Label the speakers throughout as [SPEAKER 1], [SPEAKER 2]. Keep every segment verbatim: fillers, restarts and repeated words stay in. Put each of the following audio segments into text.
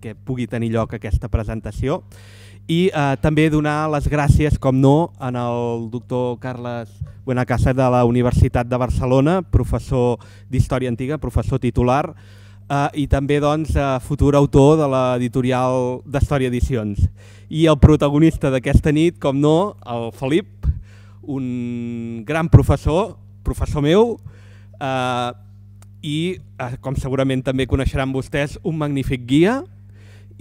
[SPEAKER 1] perquè pugui tenir lloc aquesta presentació i eh, també donar les gràcies, com no, en el doctor Carles Buenacasa de la Universitat de Barcelona, professor d'Història Antiga, professor titular, eh, i també doncs, eh, futur autor de l'editorial d'Història Edicions. I el protagonista d'aquesta nit, com no, el Felip, un gran professor, professor meu, eh, i, eh, com segurament també coneixeran vostès, un magnífic guia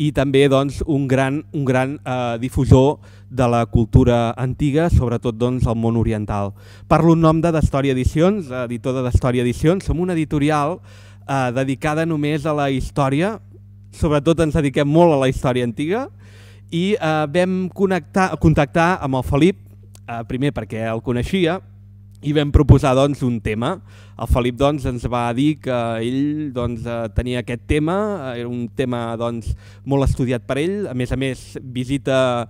[SPEAKER 1] i també doncs, un gran, un gran eh, difusor de la cultura antiga, sobretot doncs, al món oriental. Parlo en nom de d'Història Edicions, editor de d'Història Edicions. Som una editorial eh, dedicada només a la història, sobretot ens dediquem molt a la història antiga, i eh, vam connectar, contactar amb el Felip, eh, primer perquè el coneixia, i vam proposar doncs, un tema. El Felip doncs, ens va dir que ell doncs, tenia aquest tema, era un tema doncs, molt estudiat per ell, a més a més visita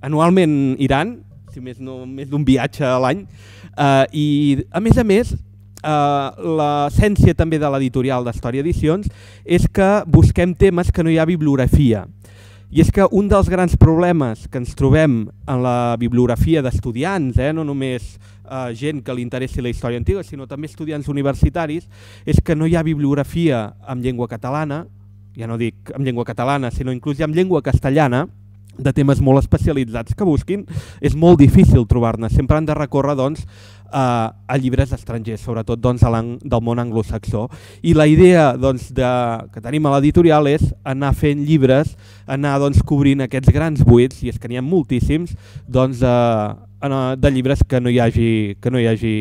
[SPEAKER 1] anualment Iran, si més no, més d'un viatge a l'any, eh, i a més a més eh, l'essència també de l'editorial d'Història Edicions és que busquem temes que no hi ha bibliografia. I és que un dels grans problemes que ens trobem en la bibliografia d'estudiants, eh, no només eh, gent que li interessi la història antiga, sinó també estudiants universitaris, és que no hi ha bibliografia en llengua catalana, ja no dic en llengua catalana, sinó inclús en llengua castellana, de temes molt especialitzats que busquin, és molt difícil trobar-ne. Sempre han de recórrer doncs, a, a llibres estrangers, sobretot doncs, del món anglosaxó. I la idea doncs, de, que tenim a l'editorial és anar fent llibres, anar doncs, cobrint aquests grans buits, i és que n'hi ha moltíssims, doncs, eh, de llibres que no hi hagi, que no hi hagi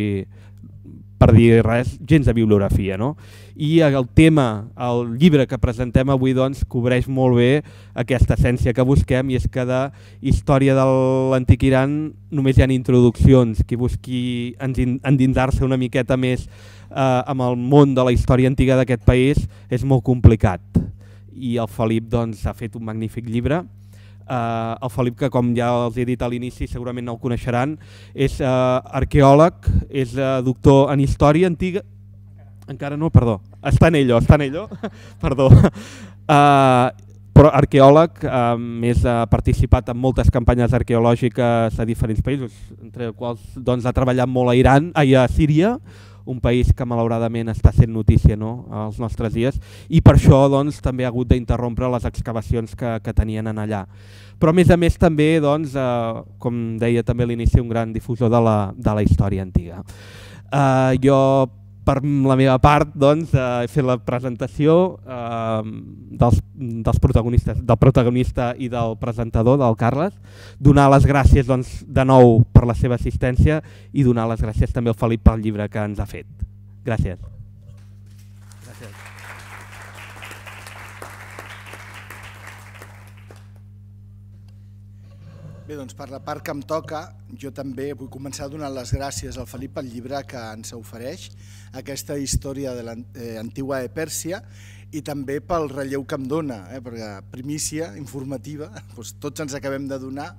[SPEAKER 1] per dir res, gens de bibliografia. No? I el tema, el llibre que presentem avui doncs, cobreix molt bé aquesta essència que busquem, i és que de història de l'antic Iran només hi ha introduccions. Qui busqui endinsar-se una miqueta més eh, amb el món de la història antiga d'aquest país és molt complicat. I el Felip doncs, ha fet un magnífic llibre. Uh, el Felip, que com ja els he dit a l'inici, segurament no el coneixeran, és uh, arqueòleg, és uh, doctor en història antiga, encara no, perdó, està en ello, està en ello, perdó, uh, però arqueòleg, uh, més ha participat en moltes campanyes arqueològiques a diferents països, entre els quals doncs, ha treballat molt a Iran, ai, a Síria, un país que malauradament està sent notícia, no?, als nostres dies, i per això doncs, també ha hagut d'interrompre les excavacions que, que tenien en allà. Però a més a més també, doncs, eh, com deia també a l'inici, un gran difusor de la, de la història antiga. Eh, jo, per la meva part, doncs, eh, he fet la presentació eh, dels, dels protagonistes, del protagonista i del presentador, del Carles, donar les gràcies doncs, de nou per la seva assistència i donar les gràcies també al Felip pel llibre que ens ha fet. Gràcies. Gràcies.
[SPEAKER 2] Bé, doncs per la part que em toca, jo també vull començar donant les gràcies al Felip pel llibre que ens ofereix, aquesta història de l'antiga Pèrsia, i també pel relleu que em dona, eh, perquè primícia informativa, doncs tots ens acabem de donar,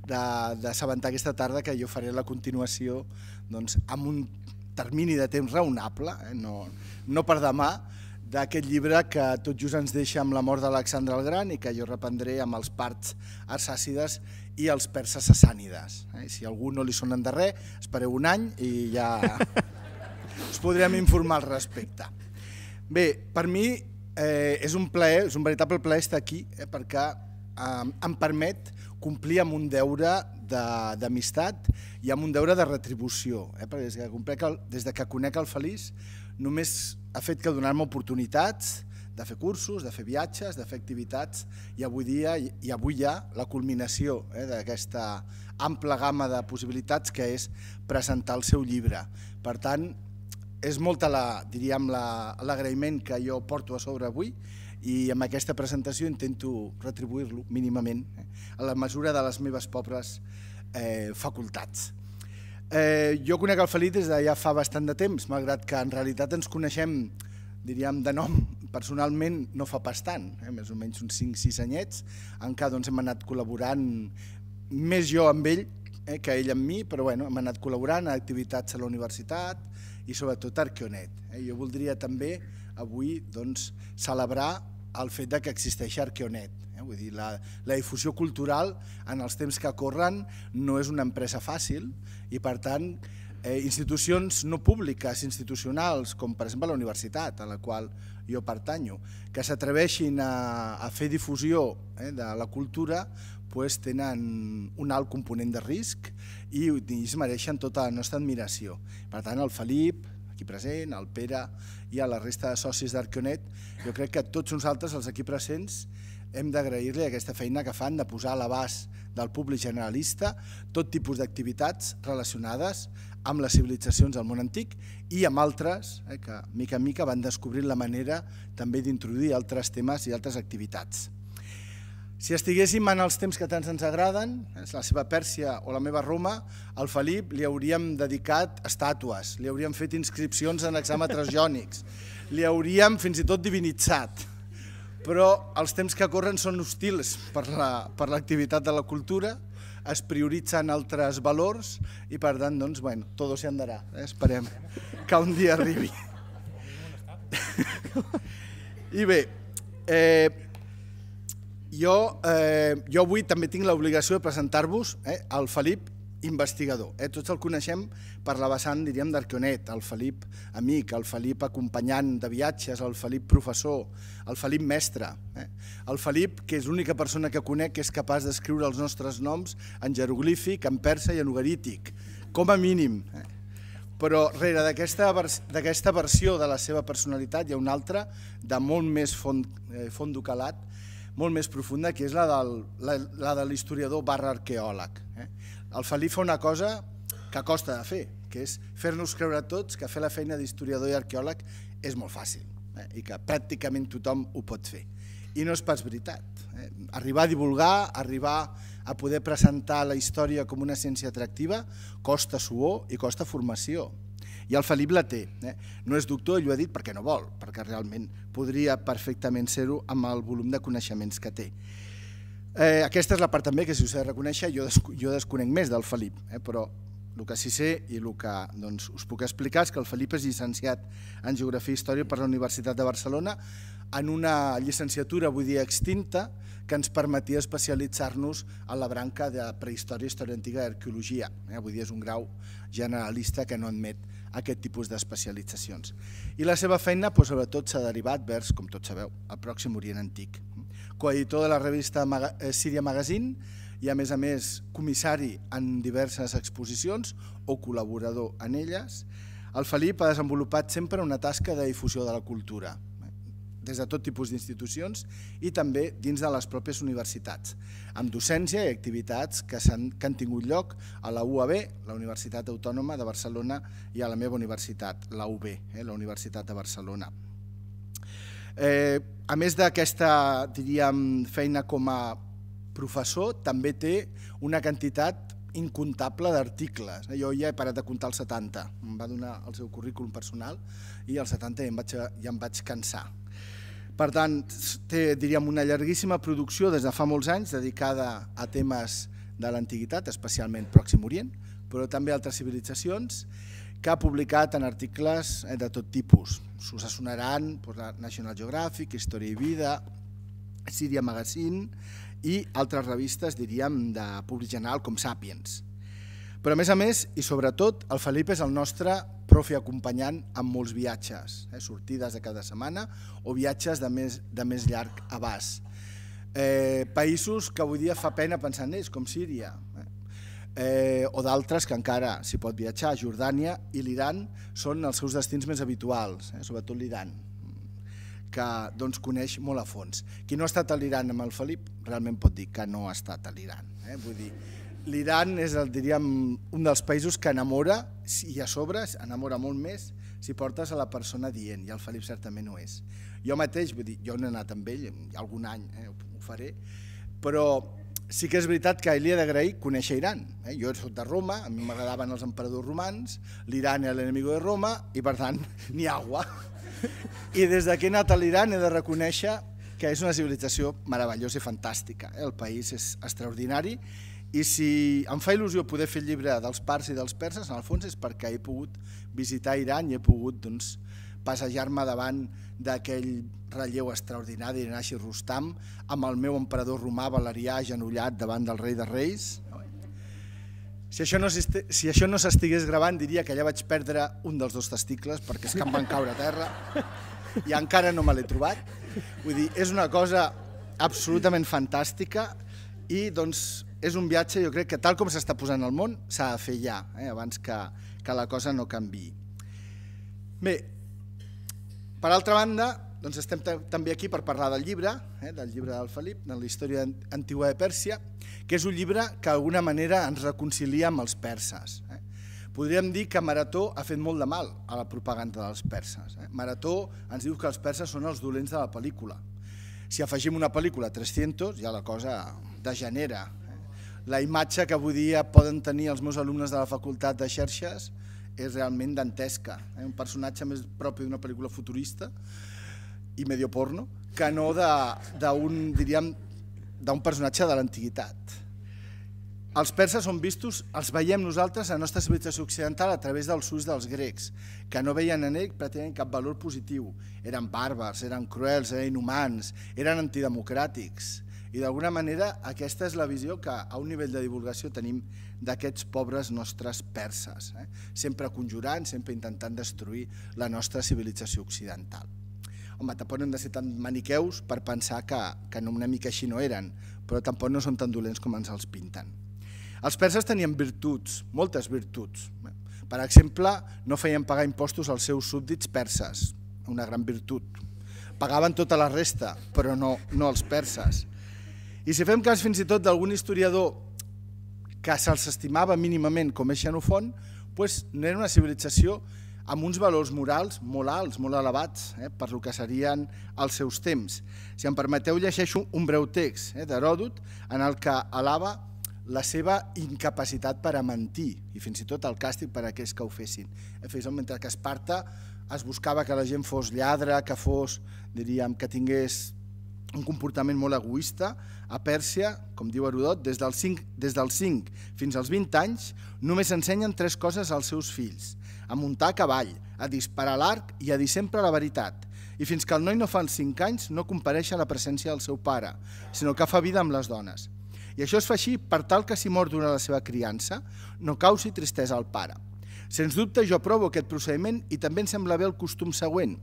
[SPEAKER 2] d'assabentar aquesta tarda que jo faré la continuació doncs, amb un termini de temps raonable, eh, no, no per demà, d'aquest llibre que tot just ens deixa amb la mort d'Alexandre el Gran i que jo reprendré amb els parts arsàcides i els perses sassànides. Eh? Si a algú no li sonen de res, espereu un any i ja us podrem informar al respecte. Bé, per mi eh, és un plaer, és un veritable plaer estar aquí eh, perquè eh, em permet complir amb un deure d'amistat i amb un deure de retribució. Eh? Perquè des que, des que conec el Feliç només ha fet que donar-me oportunitats de fer cursos, de fer viatges, de fer activitats, i avui dia i avui hi ha la culminació eh, d'aquesta ampla gamma de possibilitats que és presentar el seu llibre. Per tant, és molt l'agraïment que jo porto a sobre avui i amb aquesta presentació intento retribuir-lo mínimament eh, a la mesura de les meves pobres eh, facultats. Eh, jo conec el Felip des de ja fa bastant de temps, malgrat que en realitat ens coneixem, diríem, de nom personalment no fa pas tant, eh? més o menys uns cinc sis anyets, en què doncs, hem anat col·laborant, més jo amb ell eh, que ell amb mi, però bueno, hem anat col·laborant a activitats a la universitat i sobretot a Arqueonet. Eh? Jo voldria també avui doncs, celebrar el fet de que existeix Arqueonet. Eh? Vull dir, la, la difusió cultural en els temps que corren no és una empresa fàcil i per tant eh, institucions no públiques, institucionals, com per exemple la universitat a la qual jo pertanyo, que s'atreveixin a, a fer difusió eh, de la cultura, pues, tenen un alt component de risc i, i es mereixen tota la nostra admiració. Per tant, el Felip, aquí present, el Pere i a la resta de socis d'Arqueonet, jo crec que tots nosaltres, els aquí presents, hem d'agrair-li aquesta feina que fan de posar a l'abast del públic generalista tot tipus d'activitats relacionades amb les civilitzacions del món antic i amb altres eh, que mica en mica van descobrint la manera també d'introduir altres temes i altres activitats. Si estiguéssim en els temps que tant ens agraden, la seva Pèrsia o la meva Roma, al Felip li hauríem dedicat estàtues, li hauríem fet inscripcions en exàmetres jònics, li hauríem fins i tot divinitzat. Però els temps que corren són hostils per l'activitat de la cultura, es prioritzen altres valors i per tant, doncs, bueno, todo se andarà. Eh? Esperem que un dia arribi. I bé, eh, jo, eh, jo avui també tinc l'obligació de presentar-vos eh, el Felip investigador. Eh? Tots el coneixem per la vessant, diríem, d'Arqueonet, el Felip amic, el Felip acompanyant de viatges, el Felip professor, el Felip mestre. Eh? El Felip, que és l'única persona que conec que és capaç d'escriure els nostres noms en jeroglífic, en persa i en ugarític, com a mínim. Eh? Però rere d'aquesta versió de la seva personalitat hi ha una altra de molt més fondo calat, molt més profunda, que és la del, la, la de l'historiador barra arqueòleg. Eh? El Felip fa una cosa que costa de fer, que és fer-nos creure tots que fer la feina d'historiador i arqueòleg és molt fàcil eh? i que pràcticament tothom ho pot fer. I no és pas veritat. Eh? Arribar a divulgar, arribar a poder presentar la història com una ciència atractiva costa suor i costa formació. I el Felip la té. Eh? No és doctor, ell ho ha dit perquè no vol, perquè realment podria perfectament ser-ho amb el volum de coneixements que té. Eh, aquesta és la part també que, si us he de reconèixer, jo, des, jo desconec més del Felip, eh? Però el que sí sé i el que doncs, us puc explicar és que el Felip és llicenciat en Geografia i Història per la Universitat de Barcelona en una llicenciatura, vull dir, extinta, que ens permetia especialitzar-nos en la branca de prehistòria, història antiga i arqueologia. Eh? Vull dir, és un grau generalista que no admet aquest tipus d'especialitzacions. I la seva feina, doncs, sobretot, s'ha derivat vers, com tots sabeu, el Pròxim Orient Antic. Coeditor de la revista Síria Magazine i, a més a més, comissari en diverses exposicions o col·laborador en elles, el Felip ha desenvolupat sempre una tasca de difusió de la cultura, des de tot tipus d'institucions i també dins de les pròpies universitats, amb docència i activitats que han, que han tingut lloc a la U A B, la Universitat Autònoma de Barcelona, i a la meva universitat, la U B, eh, la Universitat de Barcelona. Eh, a més d'aquesta, diríem, feina com a professor, també té una quantitat incontable d'articles. Jo ja he parat de comptar els setanta, em va donar el seu currículum personal i als setanta ja em vaig, ja em vaig cansar. Per tant, té, diríem, una llarguíssima producció des de fa molts anys dedicada a temes de l'antiguitat, especialment Pròxim Orient, però també altres civilitzacions, que ha publicat en articles de tot tipus. Us sonaran National Geographic, Història i Vida, Síria Magazine i altres revistes, diríem, de públic general com Sapiens. Però a més a més, i sobretot, el Felip és el nostre profe acompanyant en molts viatges, eh, sortides de cada setmana o viatges de més, de més llarg abast. Eh, països que avui dia fa pena pensar en ells, com Síria, eh, eh, o d'altres que encara s'hi pot viatjar. Jordània i l'Iran són els seus destins més habituals, eh, sobretot l'Iran, que doncs, coneix molt a fons. Qui no ha estat a l'Iran amb el Felip realment pot dir que no ha estat a l'Iran. Eh? Vull dir, l'Iran és el, diríem, un dels països que enamora, i a sobre enamora molt més si portes a la persona dient, i el Felip certament ho és. Jo mateix, vull dir, jo no he anat amb ell, algun any eh, ho faré, però sí que és veritat que li he d'agrair conèixer Iran. Jo soc de Roma, a mi m'agradaven els emperadors romans, l'Iran era l'enemigo de Roma i per tant ni agua. I des que he anat a l'Iran he de reconèixer que és una civilització meravellosa i fantàstica. El país és extraordinari i si em fa il·lusió poder fer el llibre dels parts i dels perses, en el fons és perquè he pogut visitar Iran i he pogut passejar-me davant d'aquell relleu extraordinari de Nashi Rustam amb el meu emperador romà Valerià agenollat davant del rei de reis. Si això no si això no s'estigués gravant diria que ja vaig perdre un dels dos testicles perquè és que em van caure a terra i encara no me l'he trobat. Vull dir, és una cosa absolutament fantàstica i doncs és un viatge, jo crec que tal com s'està posant al món s'ha de fer ja, abans que la cosa no canviï. Bé, per altra banda, doncs estem també aquí per parlar del llibre, del llibre del Felip, de la història antiga de Pèrsia, que és un llibre que d'alguna manera ens reconcilia amb els perses. Podríem dir que Marató ha fet molt de mal a la propaganda dels perses. Marató ens diu que els perses són els dolents de la pel·lícula. Si afegim una pel·lícula a tres-cents, ja la cosa degenera. La imatge que avui dia poden tenir els meus alumnes de la facultat de xarxes és realment dantesca. Un personatge més propi d'una pel·lícula futurista i medio porno que no d'un, diríem, d'un personatge de l'antiguitat. Els perses són vistos, els veiem nosaltres, a la nostra civilització occidental, a través dels ulls dels grecs, que no veien en ell pràcticament cap valor positiu. Eren bàrbars, eren cruels, eren inhumans, eren antidemocràtics. I d'alguna manera aquesta és la visió que a un nivell de divulgació tenim d'aquests pobres nostres perses, sempre conjurant, sempre intentant destruir la nostra civilització occidental. Home, tampoc no hem de ser tan maniqueus per pensar que una mica així no eren, però tampoc no són tan dolents com ens els pinten. Els perses tenien virtuts, moltes virtuts. Per exemple, no feien pagar impostos als seus súbdits perses, una gran virtut. Pagaven tota la resta, però no els perses. I si fem cas fins i tot d'algun historiador que se'ls estimava mínimament com és Xenofont, doncs no era una civilització amb uns valors morals molt alts, molt elevats, per el que serien els seus temps. Si em permeteu, llegeixo un breu text d'Heròdot en el que alaba la seva incapacitat per a mentir i fins i tot el càstig per a aquells que ho fessin. Mentre que a Esparta es buscava que la gent fos lladre, que fos, diríem, que tingués un comportament molt egoista, a Pèrsia, com diu Heròdot, des dels cinc fins als vint anys només ensenyen tres coses als seus fills: a muntar a cavall, a disparar a l'arc i a dir sempre la veritat. I fins que el noi no fa els cinc anys no compareix a la presència del seu pare, sinó que fa vida amb les dones. I això es fa així per tal que si mor durant la seva criança no causi tristesa al pare. Sens dubte jo aprovo aquest procediment i també em sembla bé el costum següent.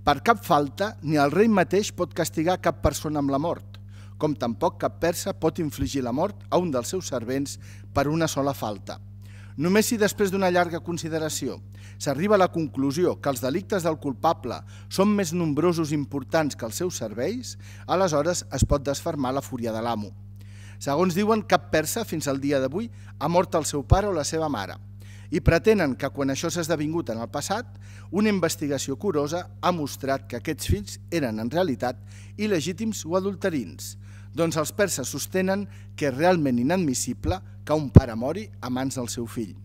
[SPEAKER 2] Per cap falta ni el rei mateix pot castigar cap persona amb la mort, com tampoc cap persa pot infligir la mort a un dels seus servents per una sola falta. Només si després d'una llarga consideració s'arriba a la conclusió que els delictes del culpable són més nombrosos i importants que els seus serveis, aleshores es pot desfermar la fúria de l'amo. Segons diuen, cap persa fins al dia d'avui ha mort el seu pare o la seva mare i pretenen que quan això s'ha esdevingut en el passat, una investigació curosa ha mostrat que aquests fills eren en realitat il·legítims o adulterins. Doncs els perses sostenen que és realment inadmissible que un pare mori a mans del seu fill.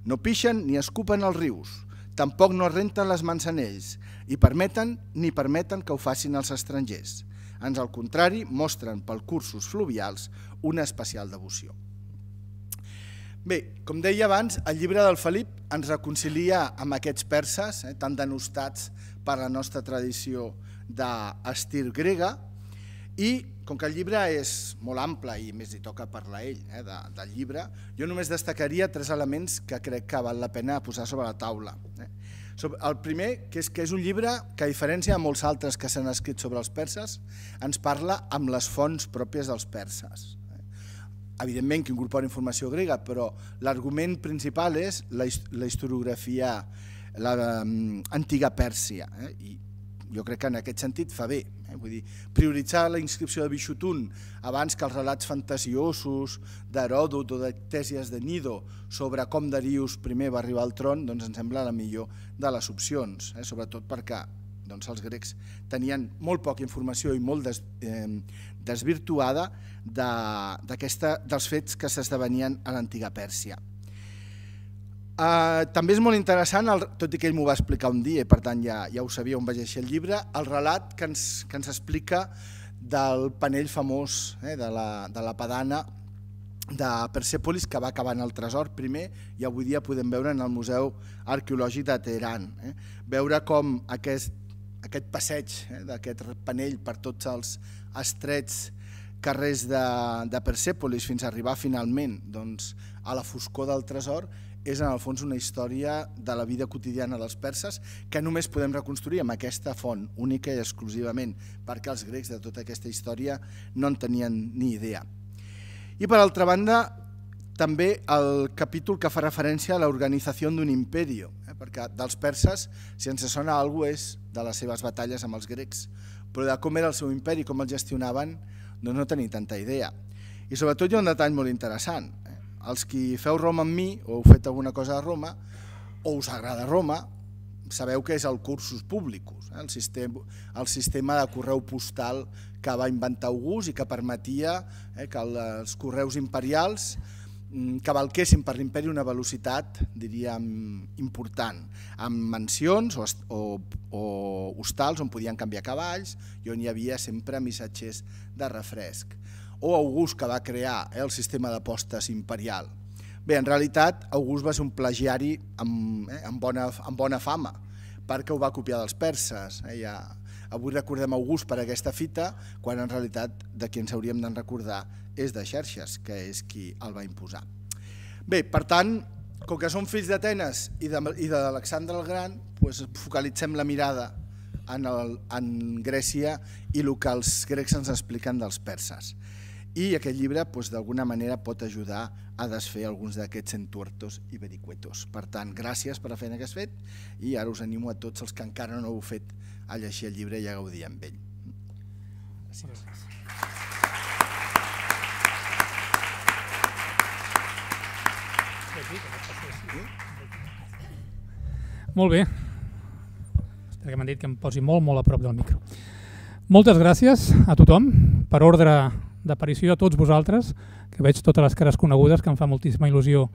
[SPEAKER 2] No pixen ni escupen els rius, tampoc no es renten les mans en ells i permeten ni permeten que ho facin els estrangers. Ans al contrari, mostren per cursos fluvials una especial devoció. Bé, com deia abans, el llibre del Felip ens reconcilia amb aquests perses, tan denostats per la nostra tradició d'estil grega, i com que el llibre és molt ample i més hi toca parlar ell del llibre, jo només destacaria tres elements que crec que val la pena posar sobre la taula. El primer, que és que és un llibre que, a diferència de molts altres que s'han escrit sobre els perses, ens parla amb les fonts pròpies dels perses. Evidentment que incorpora informació grega, però l'argument principal és la historiografia, l'antiga Pèrsia, i jo crec que en aquest sentit fa bé. Vull dir, prioritzar la inscripció de Bixutun abans que els relats fantasiosos d'Heròdot o de Ctèsies de Nido sobre com Darius primer va arribar al tron, doncs em sembla la millor de les opcions, sobretot perquè Doncs els grecs tenien molt poca informació i molt des, eh, desvirtuada de, dels fets que s'esdevenien a l'antiga Pèrsia. Uh, també és molt interessant, el, tot i que ell m'ho va explicar un dia i per tant ja, ja ho sabia on vaig llegir el llibre, el relat que ens, que ens explica del panell famós eh, de, la, de la Padana de Persèpolis, que va acabar en el tresor primer i avui dia podem veure en el Museu Arqueològic de Teheran. Eh? Veure com aquest, aquest passeig eh, d'aquest panell per tots els estrets carrers de, de Persèpolis fins a arribar finalment doncs, a la foscor del tresor és en el fons una història de la vida quotidiana dels perses que només podem reconstruir amb aquesta font única i exclusivament perquè els grecs de tota aquesta història no en tenien ni idea. I per altra banda, també el capítol que fa referència a l'organització d'un imperi, eh? perquè dels perses, si ens sona alguna cosa, és de les seves batalles amb els grecs, però de com era el seu imperi, com el gestionaven, doncs no tenim tanta idea. I sobretot hi ha un detall molt interessant. Eh? Els qui feu Roma amb mi, o heu fet alguna cosa a Roma, o us agrada Roma, sabeu que és el cursus publicus, eh? el, sistema, el sistema de correu postal que va inventar August i que permetia eh, que els correus imperials cavalquessin per l'imperi una velocitat, diríem, important, amb mansions o, o, o hostals on podien canviar cavalls i on hi havia sempre missatgers de refresc. O August, que va crear eh, el sistema de postes imperial. Bé, en realitat, August va ser un plagiari amb, eh, amb, bona, amb bona fama, perquè ho va copiar dels perses. Eh, ja, avui recordem August per aquesta fita, quan en realitat de qui ens hauríem de recordar és de Xerxes, que és qui el va imposar. Bé, per tant, com que som fills d'Atenes i d'Alexandre el Gran, doncs focalitzem la mirada en, el, en Grècia i el que els grecs ens expliquen dels perses. I aquest llibre doncs, d'alguna manera pot ajudar a desfer alguns d'aquests entuertos i vericuetos. Per tant, gràcies per la feina que has fet i ara us animo a tots els que encara no heu fet a llegir el llibre i a gaudir amb ell. Gràcies.
[SPEAKER 3] Molt bé. Espero que m'han dit que em posi molt, molt a prop del micro. Moltes gràcies a tothom, per ordre d'aparició a tots vosaltres, que veig totes les cares conegudes, que em fa moltíssima il·lusió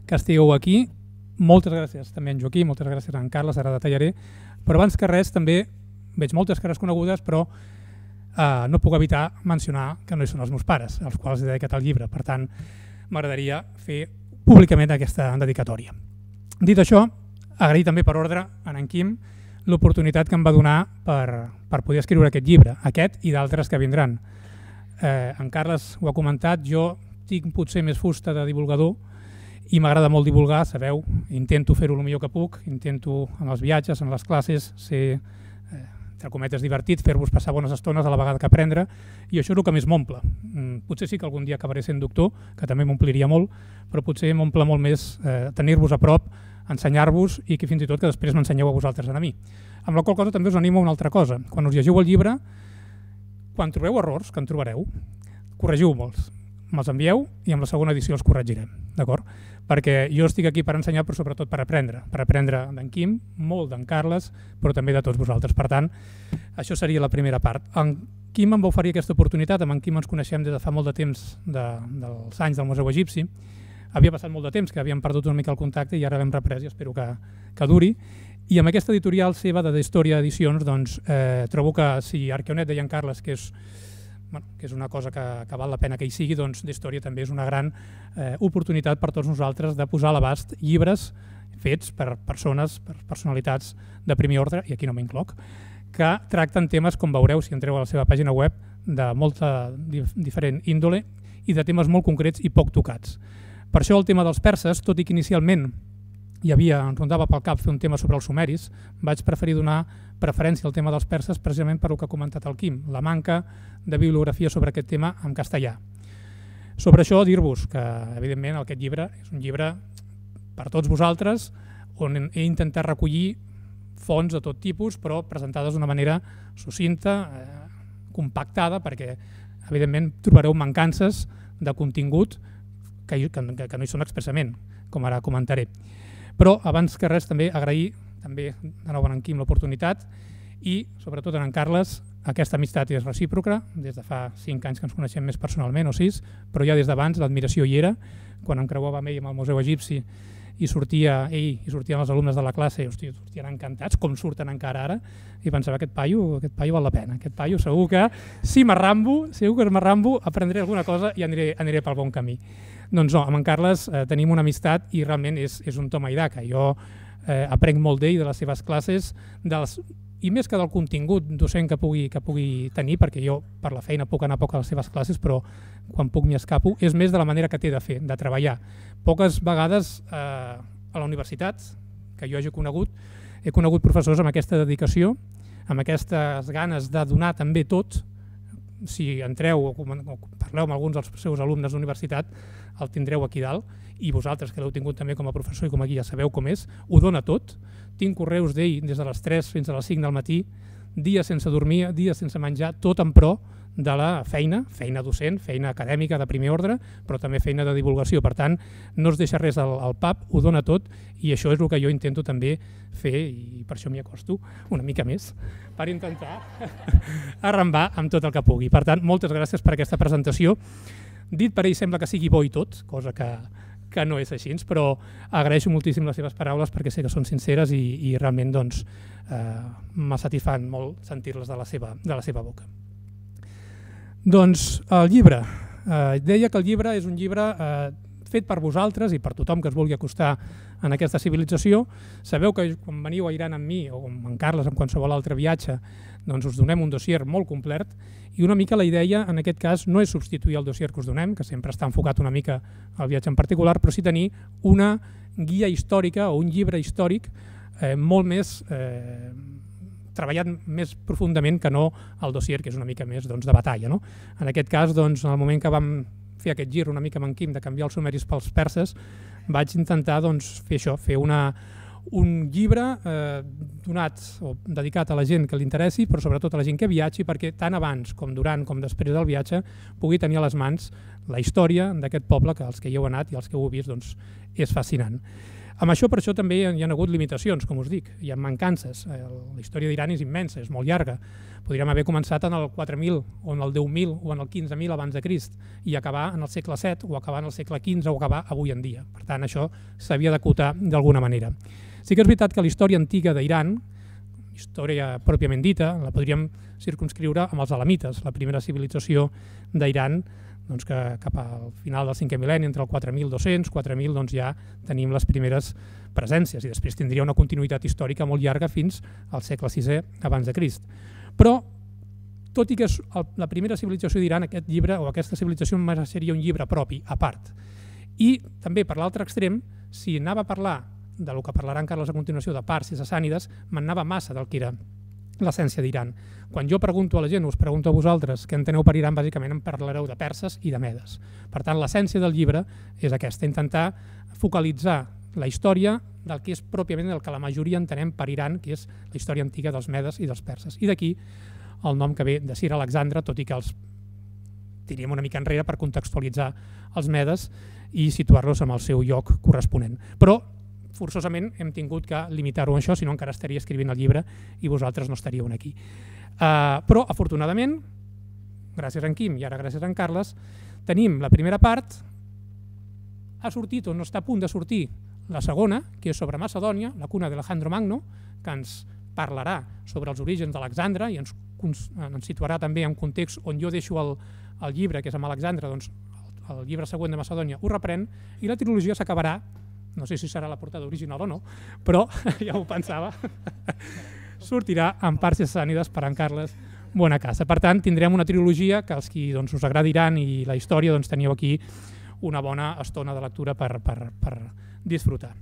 [SPEAKER 3] que estigueu aquí. Moltes gràcies també a en Joaquim, moltes gràcies a en Carles, ara detallaré. Però abans que res també veig moltes cares conegudes, però eh, no puc evitar mencionar que no hi són els meus pares, als quals he dedicat el llibre. Per tant, m'agradaria fer públicament aquesta dedicatòria. Dit això, agrair també per ordre a en Quim l'oportunitat que em va donar per, per poder escriure aquest llibre, aquest i d'altres que vindran. Eh, en Carles ho ha comentat, jo tinc potser més fusta de divulgador i m'agrada molt divulgar, sabeu, intento fer-ho el millor que puc, intento en els viatges, en les classes, ser, eh, entre cometes, divertit, fer-vos passar bones estones a la vegada que aprendre, i això és el que més m'omple. Mm, potser sí que algun dia acabaré sent doctor, que també m'ompliria molt, però potser m'omple molt més eh, tenir-vos a prop, ensenyar-vos i que fins i tot que després m'ensenyeu a vosaltres a mi. Amb la qual cosa també us animo a una altra cosa. Quan us llegiu el llibre, quan trobeu errors, que en trobareu, corregiu molts. Me'ls envieu i amb la segona edició els corregirem, d'acord? Perquè jo estic aquí per ensenyar, però sobretot per aprendre. Per aprendre d'en Quim, molt d'en Carles, però també de tots vosaltres. Per tant, això seria la primera part. En Quim em va oferir aquesta oportunitat, amb en Quim ens coneixem des de fa molt de temps, de, dels anys del Museu Egipci. Havia passat molt de temps, que havíem perdut una mica el contacte i ara l'hem reprès i espero que, que duri. I amb aquesta editorial seva de Història Edicions, doncs, eh, trobo que si Arqueonet deia en Carles que és, bueno, que és una cosa que, que val la pena que hi sigui, doncs d'història també és una gran eh, oportunitat per tots nosaltres de posar a l'abast llibres fets per persones, per personalitats de primer ordre, i aquí no m'incloc, que tracten temes, com veureu si entreu a la seva pàgina web, de molta dif diferent índole i de temes molt concrets i poc tocats. Per això el tema dels perses, tot i que inicialment hi havia, em rondava pel cap fer un tema sobre els sumeris, vaig preferir donar preferència al tema dels perses precisament per el que ha comentat el Quim, la manca de bibliografia sobre aquest tema en castellà. Sobre això dir-vos que, evidentment, aquest llibre és un llibre per tots vosaltres on he intentat recollir fonts de tot tipus, però presentades d'una manera sucinta, eh, compactada, perquè, evidentment, trobareu mancances de contingut que, que, que no hi són expressament, com ara comentaré. Però abans que res també agrair també de nou a en Quim l'oportunitat i, sobretot en en Carles, aquesta amistat és recíproca, des de fa cinc anys que ens coneixem més personalment, o sis, però ja des d'abans l'admiració hi era, quan em creuava amb ell amb el Museu Egipci i sortia ell i sortien els alumnes de la classe i hòstia, sortien encantats, com surten encara ara, i pensava, aquest paio, aquest paio val la pena, aquest paio segur que si m'arrambo, segur que m'arrambo, aprendré alguna cosa i aniré, aniré pel bon camí. Doncs no, amb en Carles eh, tenim una amistat i realment és, és un toma i daca. Jo eh, aprenc molt d'ell, de les seves classes, dels, i més que del contingut docent que pugui, que pugui tenir, perquè jo per la feina puc anar poc a les seves classes, però quan puc m'hi escapo, és més de la manera que té de fer, de treballar. Poques vegades eh, a la universitat, que jo hagi conegut, he conegut professors amb aquesta dedicació, amb aquestes ganes de donar també tot. Si entreu o parleu amb alguns dels seus alumnes d'universitat, el tindreu aquí dalt, i vosaltres que l'heu tingut també com a professor i com a guia sabeu com és, ho dona tot. Tinc correus d'ell des de les tres fins a les cinc del matí, dies sense dormir, dies sense menjar, tot en pro de la feina, feina docent, feina acadèmica de primer ordre, però també feina de divulgació. Per tant, no es deixa res al, al pap, ho dona tot, i això és el que jo intento també fer, i per això m'hi acosto una mica més, per intentar arrambar amb tot el que pugui. Per tant, moltes gràcies per aquesta presentació. Dit per ell sembla que sigui bo i tot, cosa que, que no és així, però agraeixo moltíssim les seves paraules perquè sé que són sinceres i, i realment doncs, eh, me satisfan molt sentir-les de, la seva, de la seva boca. Doncs el llibre. Eh, deia que el llibre és un llibre eh, fet per vosaltres i per tothom que es vulgui acostar en aquesta civilització. Sabeu que quan veniu a Iran amb mi o amb en Carles en qualsevol altre viatge, doncs us donem un dossier molt complet i una mica la idea en aquest cas no és substituir el dossier que us donem, que sempre està enfocat una mica al viatge en particular, però sí tenir una guia històrica o un llibre històric eh, molt més eh, treballat més profundament que no el dossier, que és una mica més doncs, de batalla. No? En aquest cas, doncs, en el moment que vam fer aquest gir una mica amb en Quim de canviar els sumeris pels perses, vaig intentar doncs, fer això, fer una, un llibre eh, donat o dedicat a la gent que li interessi, però sobretot a la gent que viatgi, perquè tant abans com durant com després del viatge pugui tenir a les mans la història d'aquest poble, que els que hi heu anat i els que heu vist doncs, és fascinant. Amb això, per això també hi ha hagut limitacions, com us dic, hi ha mancances. La història d'Iran és immensa, és molt llarga. Podríem haver començat en el quatre mil, o en el deu mil, o en el quinze mil abans de Crist, i acabar en el segle set, o acabar en el segle quinze, o acabar avui en dia. Per tant, això s'havia d'acotar d'alguna manera. Sí que és veritat que la història antiga d'Iran, història pròpiament dita, la podríem circumscriure amb els elamites, la primera civilització d'Iran, doncs que cap al final del cinquè mil·lenni, entre el quatre mil dos-cents i quatre mil, doncs ja tenim les primeres presències i després tindria una continuïtat històrica molt llarga fins al segle sisè abans de Crist. Però, tot i que és la primera civilització d'Iran, aquest llibre o aquesta civilització seria un llibre propi, a part. I també, per l'altre extrem, si anava a parlar del que parlarà en Carles a continuació de parts i sassànides, m'anava massa del que era l'essència d'Iran. Quan jo pregunto a la gent, us pregunto a vosaltres què enteneu per Iran, bàsicament em parlareu de perses i de medes. Per tant, l'essència del llibre és aquesta, intentar focalitzar la història del que és pròpiament el que la majoria entenem per Iran, que és la història antiga dels medes i dels perses. I d'aquí el nom que ve de Sir Alexandre, tot i que els tiríem una mica enrere per contextualitzar els medes i situar-los en el seu lloc corresponent. Però forçosament hem tingut que limitar-ho a això, si no encara estaria escrivint el llibre i vosaltres no estaríeu aquí. Uh, però, afortunadament, gràcies a en Quim i ara gràcies a en Carles, tenim la primera part, ha sortit o no està a punt de sortir la segona, que és sobre Macedònia, la cuna d'Alejandro Magno, que ens parlarà sobre els orígens d'Alexandre i ens, ens situarà també en context on jo deixo el, el llibre, que és amb Alexandre, doncs el, el llibre següent de Macedònia ho reprèn i la trilogia s'acabarà, no sé si serà la portada original o no, però ja ho pensava, sortirà en parts sassànides per en Carles Buenacasa. Per tant, tindrem una trilogia que els qui doncs, us agradiran i la història doncs, teniu aquí una bona estona de lectura per, per, per disfrutar.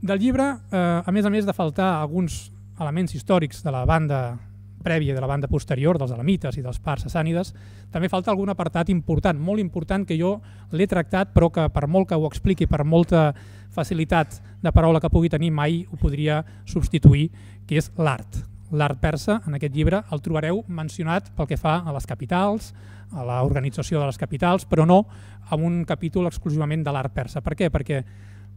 [SPEAKER 3] Del llibre, eh, a més a més de faltar alguns elements històrics de la banda prèvia, de la banda posterior, dels elamites i dels parts sassànides, també falta algun apartat important, molt important, que jo l'he tractat, però que per molt que ho expliqui, per molta facilitat de paraula que pugui tenir, mai ho podria substituir, que és l'art. L'art persa, en aquest llibre, el trobareu mencionat pel que fa a les capitals, a l'organització de les capitals, però no amb un capítol exclusivament de l'art persa. Per què? Perquè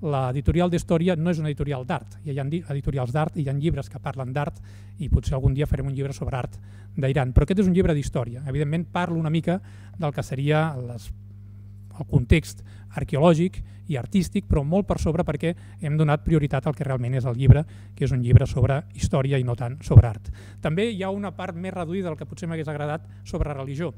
[SPEAKER 3] l'editorial d'història no és una editorial d'art. Hi ha editorials d'art, hi ha llibres que parlen d'art i potser algun dia farem un llibre sobre art d'Iran. Però aquest és un llibre d'història. Evidentment parlo una mica del que seria les, el context arqueològic i artístic, però molt per sobre perquè hem donat prioritat al que realment és el llibre, que és un llibre sobre història i no tant sobre art. També hi ha una part més reduïda del que potser m'hagués agradat sobre religió.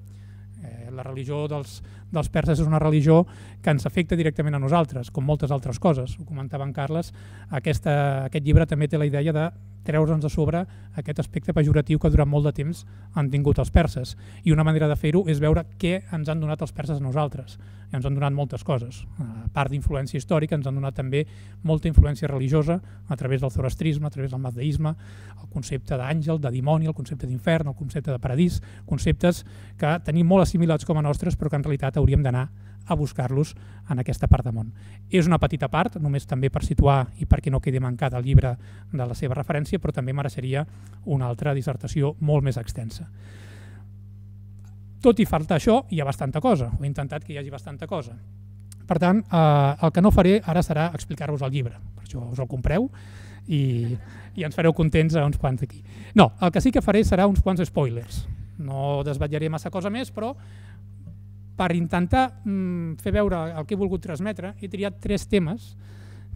[SPEAKER 3] Eh, la religió dels, dels perses és una religió que ens afecta directament a nosaltres, com moltes altres coses. Ho comentava en Carles, aquesta, aquest llibre també té la idea de treure'ns de sobre aquest aspecte pejoratiu que durant molt de temps han tingut els perses. I una manera de fer-ho és veure què ens han donat els perses a nosaltres. I ens han donat moltes coses. A part d'influència històrica, ens han donat també molta influència religiosa a través del zoroastrisme, a través del mazdeisme, el concepte d'àngel, de dimoni, el concepte d'infern, el concepte de paradís, conceptes que tenim molt assimilats com a nostres però que en realitat hauríem d'anar a buscar-los en aquesta part de món. És una petita part, només també per situar i perquè no quedi mancat el llibre de la seva referència, però també mereixeria una altra dissertació molt més extensa. Tot i falta això, hi ha bastanta cosa. Ho he intentat que hi hagi bastanta cosa. Per tant, eh, el que no faré ara serà explicar-vos el llibre. Per això us el compreu i, i ens fareu contents a uns quants d'aquí. No, el que sí que faré serà uns quants spoilers. No desvetllaré massa cosa més, però per intentar mm, fer veure el que he volgut transmetre, he triat tres temes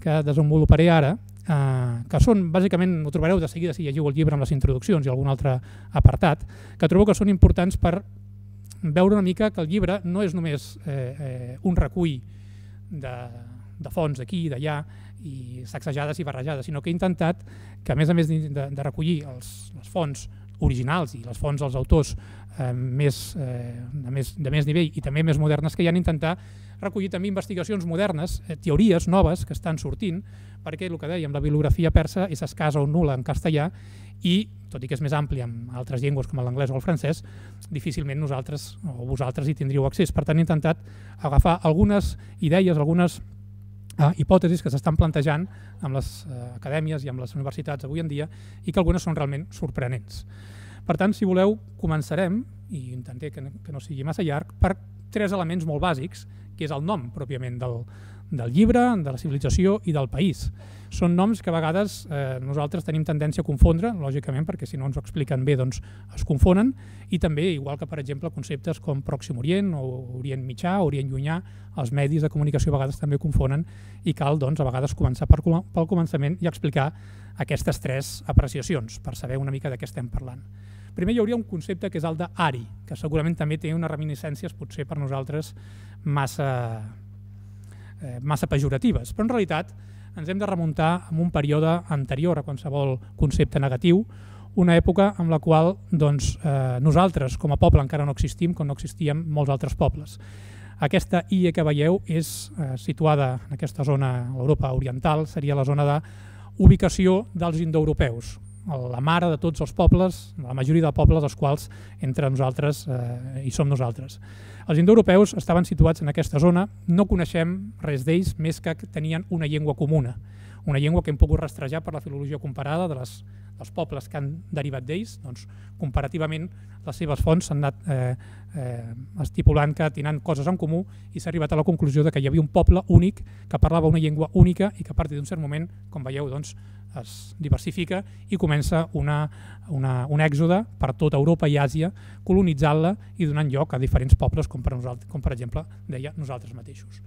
[SPEAKER 3] que desenvoluparé ara, eh, que són, bàsicament, ho trobareu de seguida si llegiu el llibre amb les introduccions i algun altre apartat, que trobo que són importants per veure una mica que el llibre no és només eh, eh, un recull de, de fonts d'aquí i d'allà i sacsejades i barrejades, sinó que he intentat que, a més a més de, de recollir els, les fonts originals i les fonts dels autors eh, més, eh, de, més, de més nivell i també més modernes que hi han, intentar recollir també investigacions modernes, eh, teories noves que estan sortint, perquè el que dèiem, la bibliografia persa és escassa o nul·la en castellà i, tot i que és més àmplia en altres llengües com l'anglès o el francès, difícilment nosaltres o vosaltres hi tindríeu accés. Per tant, he intentat agafar algunes idees, algunes Uh, hipòtesis que s'estan plantejant amb les uh, acadèmies i amb les universitats avui en dia i que algunes són realment sorprenents. Per tant, si voleu, començarem, i intentaré que no, que no sigui massa llarg, per tres elements molt bàsics, que és el nom pròpiament del, del llibre, de la civilització i del país. Són noms que a vegades eh, nosaltres tenim tendència a confondre, lògicament, perquè si no ens ho expliquen bé doncs es confonen, i també, igual que per exemple conceptes com Pròxim Orient o Orient Mitjà, Orient Llunyà, els medis de comunicació a vegades també confonen i cal doncs, a vegades començar per, pel començament i explicar aquestes tres apreciacions per saber una mica de què estem parlant. Primer hi hauria un concepte que és el d'Ari, que segurament també té unes reminiscències potser per nosaltres massa, eh, massa pejoratives, però en realitat ens hem de remuntar a un període anterior a qualsevol concepte negatiu, una època en la qual doncs, eh, nosaltres com a poble encara no existim, com no existíem molts altres pobles. Aquesta illa que veieu és eh, situada en aquesta zona, l'Europa oriental, seria la zona d'ubicació dels indoeuropeus, la mare de tots els pobles, la majoria de pobles dels quals entre nosaltres eh, hi som nosaltres. Els indoeuropeus estaven situats en aquesta zona, no coneixem res d'ells més que tenien una llengua comuna, una llengua que hem pogut rastrejar per la filologia comparada de les, dels pobles que han derivat d'ells, doncs comparativament les seves fonts s'han anat eh, eh, estipulant que tenen coses en comú i s'ha arribat a la conclusió de que hi havia un poble únic que parlava una llengua única i que a partir d'un cert moment, com veieu, doncs, es diversifica i comença una, una, un èxode per tota Europa i Àsia, colonitzant-la i donant lloc a diferents pobles, com per, nosaltres, com per exemple deia nosaltres mateixos.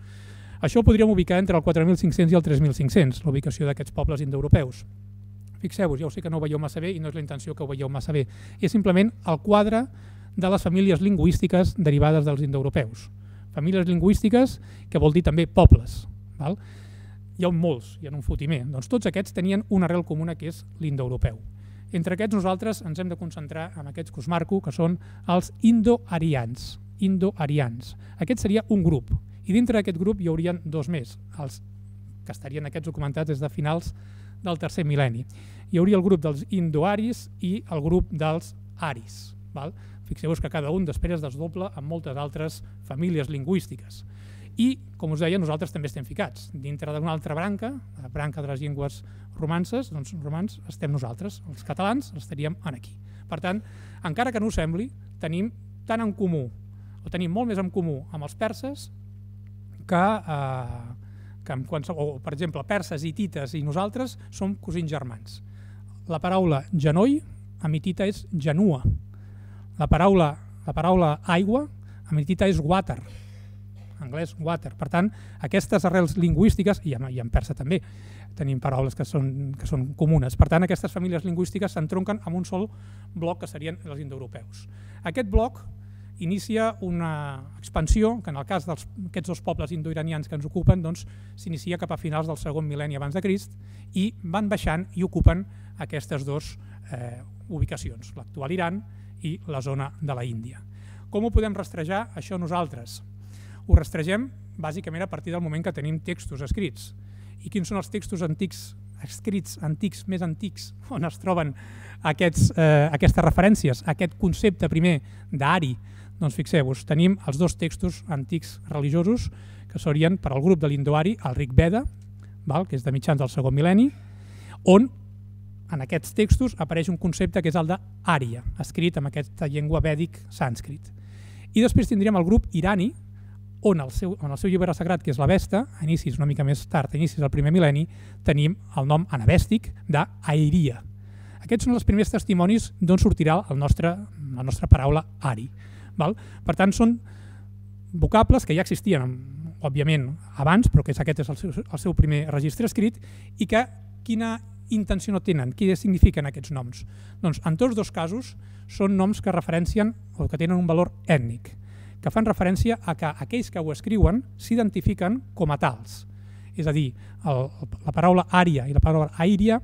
[SPEAKER 3] Això ho podríem ubicar entre el quatre mil cinc-cents i el tres mil cinc-cents, la ubicació d'aquests pobles indoeuropeus. Fixeu-vos, ja ho sé que no ho veieu massa bé i no és la intenció que ho veieu massa bé, és simplement el quadre de les famílies lingüístiques derivades dels indoeuropeus. Famílies lingüístiques que vol dir també pobles. Val? Hi ha molts, hi ha un fotimer. Doncs tots aquests tenien una arrel comuna que és l'indoeuropeu. Entre aquests nosaltres ens hem de concentrar en aquests que us marco, que són els indoarians. Indoarians. Aquest seria un grup. I dintre d'aquest grup hi haurien dos més, els que estarien aquests documentats des de finals del tercer mil·lenni. Hi hauria el grup dels indoaris i el grup dels aris. Val? Fixeu-vos que cada un després es desdobla amb moltes altres famílies lingüístiques. I, com us deia, nosaltres també estem ficats. Dintre d'una altra branca, la branca de les llengües romances, doncs romans estem nosaltres, els catalans estaríem aquí. Per tant, encara que no us sembli, tenim tant en comú, o tenim molt més en comú amb els perses que, eh, que en qualsevol, o, per exemple, perses, hitites i nosaltres som cosins germans. La paraula genoll amb hitita és genua. La paraula, la paraula aigua amb hitita és water, en anglès water. Per tant, aquestes arrels lingüístiques, i en, i en persa també tenim paraules que són, que són comunes, per tant, aquestes famílies lingüístiques s'entronquen amb un sol bloc que serien els indoeuropeus. Aquest bloc inicia una expansió que en el cas d'aquests dos pobles indoiranians que ens ocupen doncs, s'inicia cap a finals del segon mil·lenni abans de Crist i van baixant i ocupen aquestes dues eh, ubicacions, l'actual Iran i la zona de la Índia. Com ho podem rastrejar això nosaltres? Ho rastregem bàsicament a partir del moment que tenim textos escrits. I quins són els textos antics, escrits antics, més antics, on es troben aquests, eh, aquestes referències, aquest concepte primer d'Ari? Doncs fixeu-vos, tenim els dos textos antics religiosos que serien per al grup de l'Indoari, el Rig Veda, val, que és de mitjans del segon mil·lenni, on en aquests textos apareix un concepte que és el d'Ària, escrit amb aquesta llengua vèdic sànscrit. I després tindríem el grup irani, on el seu, on el seu llibre sagrat, que és l'Avesta, a inicis una mica més tard, a inicis del primer mil·lenni, tenim el nom anavèstic d'Airia. Aquests són els primers testimonis d'on sortirà el nostre, la nostra paraula Ari. Val? Per tant, són vocables que ja existien, òbviament, abans, però que aquest és el seu, el seu primer registre escrit, i que quina intenció no tenen, què signifiquen aquests noms? Doncs en tots dos casos són noms que referencien o que tenen un valor ètnic, que fan referència a que aquells que ho escriuen s'identifiquen com a tals. És a dir, el, la paraula ària i la paraula airia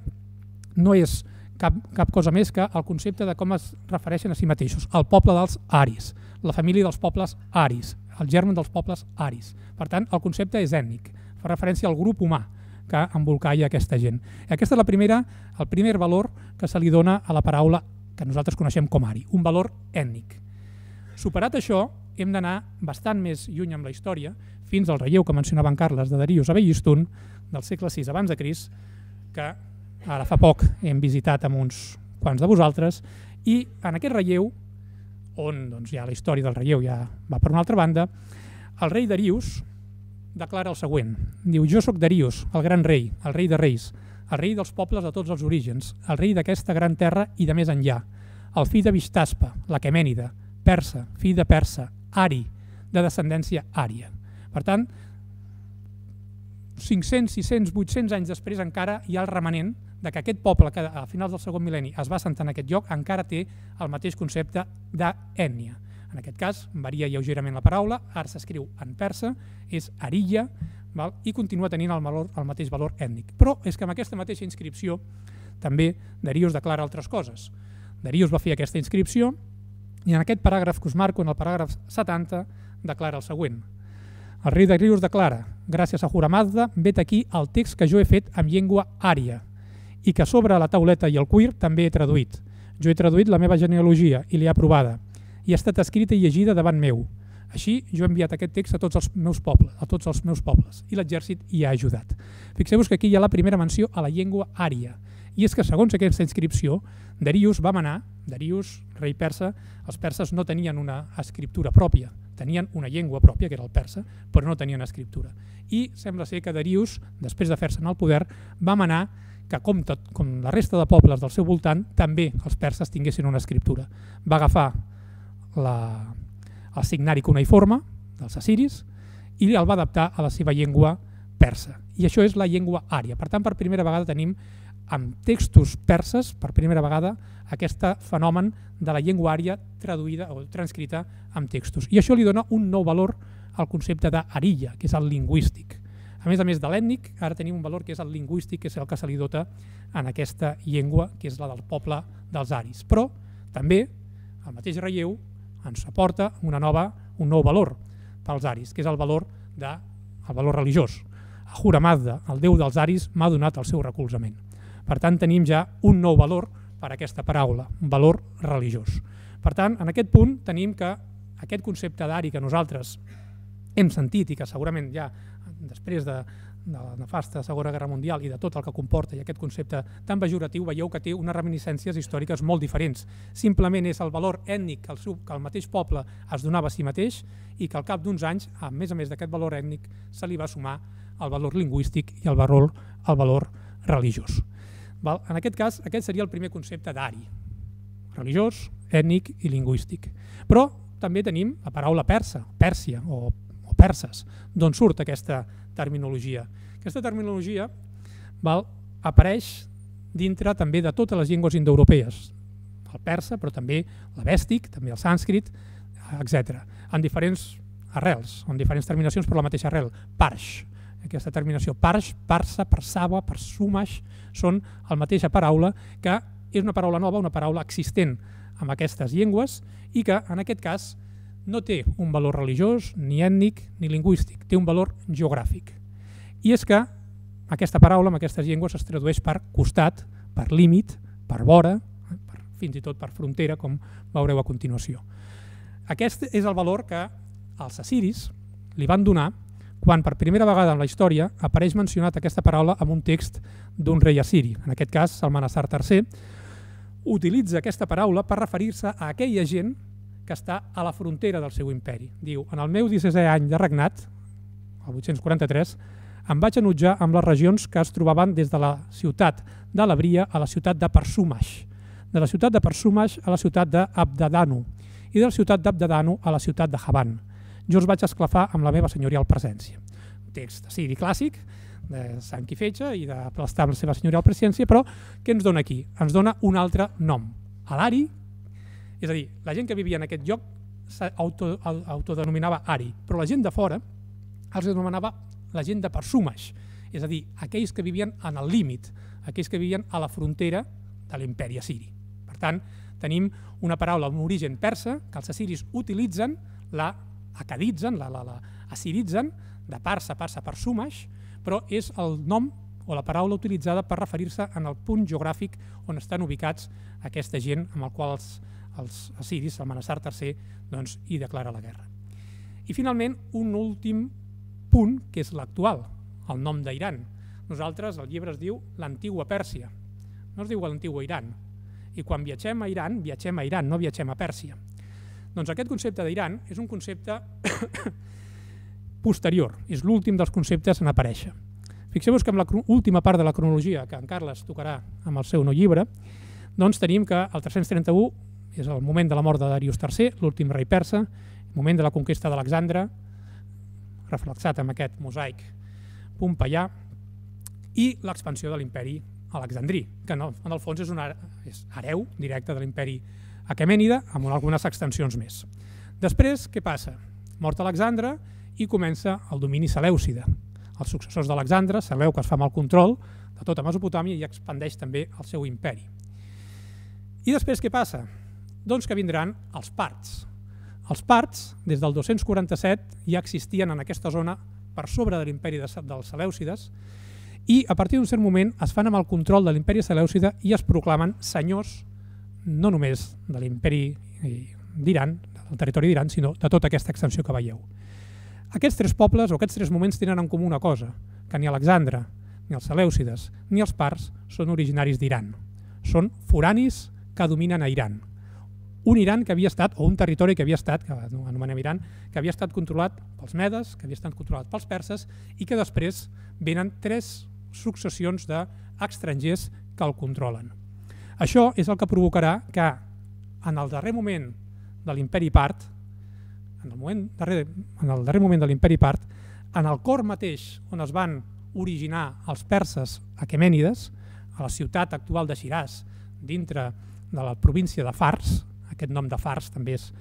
[SPEAKER 3] no és cap, cap cosa més que el concepte de com es refereixen a si mateixos, el poble dels aris, la família dels pobles aris, el germen dels pobles aris. Per tant, el concepte és ètnic, fa referència al grup humà que embolcalla aquesta gent. I aquesta és la primera, el primer valor que se li dona a la paraula que nosaltres coneixem com Ari, un valor ètnic. Superat això, hem d'anar bastant més lluny amb la història, fins al relleu que mencionava en Carles de Darius a Behistun, del segle sis abans de Crist, que ara fa poc hem visitat amb uns quants de vosaltres, i en aquest relleu, on doncs, ja la història del relleu ja va per una altra banda, el rei Darius declara el següent. Diu, jo sóc Darius, el gran rei, el rei de reis, el rei dels pobles de tots els orígens, el rei d'aquesta gran terra i de més enllà, el fill de Vishtaspa, l'Aquemènida, persa, fill de persa, Ari, de descendència ària. Per tant, cinc-cents, sis-cents, vuit-cents anys després encara hi ha el remanent de que aquest poble que a finals del segon mil·lenni es va assentar en aquest lloc encara té el mateix concepte d'ètnia. En aquest cas varia lleugerament la paraula, ara s'escriu en persa, és Ariya, val? I continua tenint el, valor, el mateix valor ètnic. Però és que amb aquesta mateixa inscripció també Darius declara altres coses. Darius va fer aquesta inscripció i en aquest paràgraf que us marco, en el paràgraf setanta, declara el següent. El rei Darius declara, gràcies a Ahura Mazda, vet aquí el text que jo he fet en llengua ària i que sobre la tauleta i el cuir també he traduït. Jo he traduït la meva genealogia i l'he aprovada i ha estat escrita i llegida davant meu. Així, jo he enviat aquest text a tots els meus pobles, a tots els meus pobles i l'exèrcit hi ha ajudat. Fixeu-vos que aquí hi ha la primera menció a la llengua ària. I és que, segons aquesta inscripció, Darius va manar, Darius, rei persa, els perses no tenien una escriptura pròpia, tenien una llengua pròpia, que era el persa, però no tenien escriptura. I sembla ser que Darius, després de fer-se'n al poder, va manar que, com, tot, com la resta de pobles del seu voltant, també els perses tinguessin una escriptura. Va agafar la, el signari cuneiforme dels assiris i el va adaptar a la seva llengua persa. I això és la llengua ària. Per tant, per primera vegada tenim amb textos perses, per primera vegada, aquest fenomen de la llengua ària traduïda o transcrita amb textos. I això li dona un nou valor al concepte d'Ariya, que és el lingüístic. A més a més de l'ètnic, ara tenim un valor que és el lingüístic, que és el que se li dota en aquesta llengua, que és la del poble dels aris. Però també el mateix relleu ens aporta una nova, un nou valor pels aris, que és el valor, de, el valor religiós. Ahura Mazda, el déu dels aris, m'ha donat el seu recolzament. Per tant, tenim ja un nou valor per a aquesta paraula, un valor religiós. Per tant, en aquest punt tenim que aquest concepte d'ari que nosaltres hem sentit i que segurament ja després de, de la nefasta Segona Guerra Mundial i de tot el que comporta i aquest concepte tan pejoratiu, veieu que té unes reminiscències històriques molt diferents. Simplement és el valor ètnic que el, seu, que el mateix poble es donava a si mateix i que al cap d'uns anys, a més a més d'aquest valor ètnic, se li va sumar el valor lingüístic i el valor, el valor religiós. Val? En aquest cas, aquest seria el primer concepte d'ari, religiós, ètnic i lingüístic. Però també tenim la paraula persa, Pèrsia o, o perses, d'on surt aquesta terminologia. Aquesta terminologia val, apareix dintre també de totes les llengües indoeuropees, el persa, però també l'avèstic, també el sànscrit, etcètera, en diferents arrels, en diferents terminacions per la mateixa arrel. Parsh, aquesta terminació parsh, parsa, persava, persumash, són la mateixa paraula que és una paraula nova, una paraula existent en aquestes llengües i que en aquest cas no té un valor religiós, ni ètnic, ni lingüístic, té un valor geogràfic. I és que aquesta paraula en aquestes llengües es tradueix per costat, per límit, per vora, per, fins i tot per frontera, com veureu a continuació. Aquest és el valor que els assiris li van donar quan per primera vegada en la història apareix mencionat aquesta paraula en un text d'un rei assiri, en aquest cas Salmaneser tercer, utilitza aquesta paraula per referir-se a aquella gent que està a la frontera del seu imperi. Diu, en el meu dissetè any de regnat, el vuit-cents quaranta-tres, em vaig enutjar amb les regions que es trobaven des de la ciutat de l'Abria a la ciutat de Persumash, de la ciutat de Persumash a la ciutat d'Abdadanu i de la ciutat d'Abdadanu a la ciutat de Havan. Jo els vaig esclafar amb la meva senyorial presència. Text assiri clàssic, de sang i fetge i de prestar la seva senyorial presència, però què ens dona aquí? Ens dona un altre nom, l'ari. És a dir, la gent que vivia en aquest lloc s'autodenominava ari, però la gent de fora els anomenava la gent de Persumash, és a dir, aquells que vivien en el límit, aquells que vivien a la frontera de l'imperi assiri. Per tant, tenim una paraula amb origen persa que els assiris utilitzen, la acaditzen, la, la, la assiritzen, de parsa, parsa, Persumash, però és el nom o la paraula utilitzada per referir-se en el punt geogràfic on estan ubicats aquesta gent amb el qual els els assiris, Salmaneser tercer, doncs, hi declara la guerra. I finalment, un últim punt, que és l'actual, el nom d'Iran. Nosaltres, el llibre es diu l'antigua Pèrsia, no es diu l'antigua Iran. I quan viatgem a Iran, viatgem a Iran, no viatgem a Pèrsia. Doncs aquest concepte d'Iran és un concepte posterior, és l'últim dels conceptes en aparèixer. Fixeu-vos que amb l'última part de la cronologia, que en Carles tocarà amb el seu nou llibre, doncs tenim que el tres-cents trenta-u és el moment de la mort de Darius tercer, l'últim rei persa, el moment de la conquesta d'Alexandre, reflexat amb aquest mosaic pompeià, i l'expansió de l'imperi alexandrí, que en el fons és un hereu directe de l'imperi aquemènida, amb algunes extensions més. Després, què passa? Mort Alexandre i comença el domini selèucida. Els successors d'Alexandre, Seleuc es fa amb el control de tota Mesopotàmia i expandeix també el seu imperi. I després què passa? Doncs que vindran els parts. Els parts, des del dos-cents quaranta-set, ja existien en aquesta zona per sobre de l'imperi dels selèucides i a partir d'un cert moment es fan amb el control de l'imperi selèucida i es proclamen senyors no només de l'imperi d'Iran, del territori d'Iran, sinó de tota aquesta extensió que veieu. Aquests tres pobles o aquests tres moments tenen en comú una cosa, que ni Alexandre, ni els selèucides, ni els parts són originaris d'Iran. Són foranis que dominen a Iran. Un Iran que havia estat, o un territori que havia estat, que anomenem Iran, que havia estat controlat pels medes, que havia estat controlat pels perses i que després venen tres successions d'estrangers que el controlen. Això és el que provocarà que en el darrer moment de l'imperi part, en el, moment darrer, en el darrer moment de l'imperi part, en el cor mateix on es van originar els perses aquemènides, a la ciutat actual de Shiraz, dintre de la província de Fars, aquest nom de Fars també és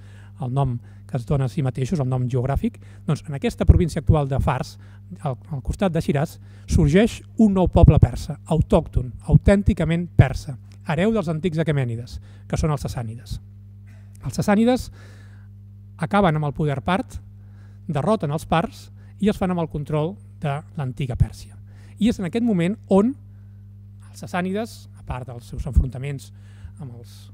[SPEAKER 3] el nom que es dona a si mateixos, el nom geogràfic, doncs en aquesta província actual de Fars, al, al costat de Shiraz, sorgeix un nou poble persa, autòcton, autènticament persa, hereu dels antics aquemènides, que són els sassànides. Els sassànides acaben amb el poder part, derroten els parts i es fan amb el control de l'antiga Pèrsia. I és en aquest moment on els sassànides, a part dels seus enfrontaments amb els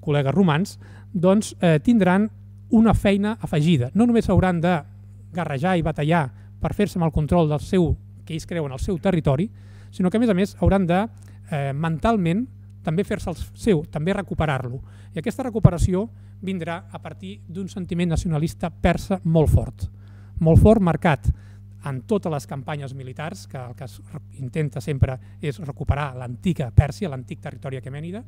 [SPEAKER 3] col·legues romans, doncs eh, tindran una feina afegida. No només hauran de guerrejar i batallar per fer-se amb el control del seu que ells creuen al seu territori, sinó que a més a més hauran de eh, mentalment també fer-se el seu, també recuperar-lo. I aquesta recuperació vindrà a partir d'un sentiment nacionalista persa molt fort, molt fort, marcat en totes les campanyes militars, que el que es intenta sempre és recuperar l'antiga Pèrsia, l'antic territori aquemènida,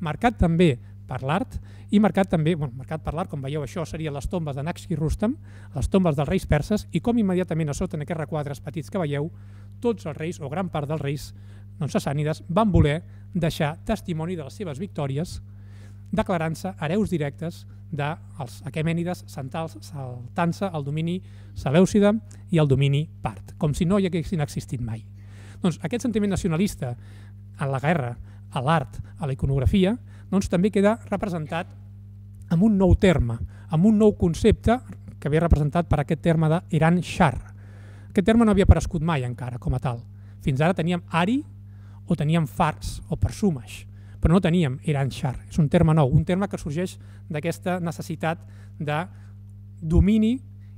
[SPEAKER 3] marcat també per l'art i marcat també, bueno, marcat per l'art, com veieu, això serien les tombes de Naqsh Rustam, les tombes dels reis perses, i com immediatament a sota en aquests requadres petits que veieu, tots els reis, o gran part dels reis doncs, sassànides, van voler deixar testimoni de les seves victòries, declarant-se hereus directes dels aquemènides, saltant-se el domini selèucida i el domini part, com si no hi haguessin existit mai. Doncs aquest sentiment nacionalista en la guerra, a l'art, a la iconografia, doncs també queda representat amb un nou terme, amb un nou concepte que ve representat per aquest terme d'Iran Shar. Aquest terme no havia aparegut mai encara com a tal. Fins ara teníem Ari o teníem Fars o Persumash, però no teníem Iran Shar. És un terme nou, un terme que sorgeix d'aquesta necessitat de domini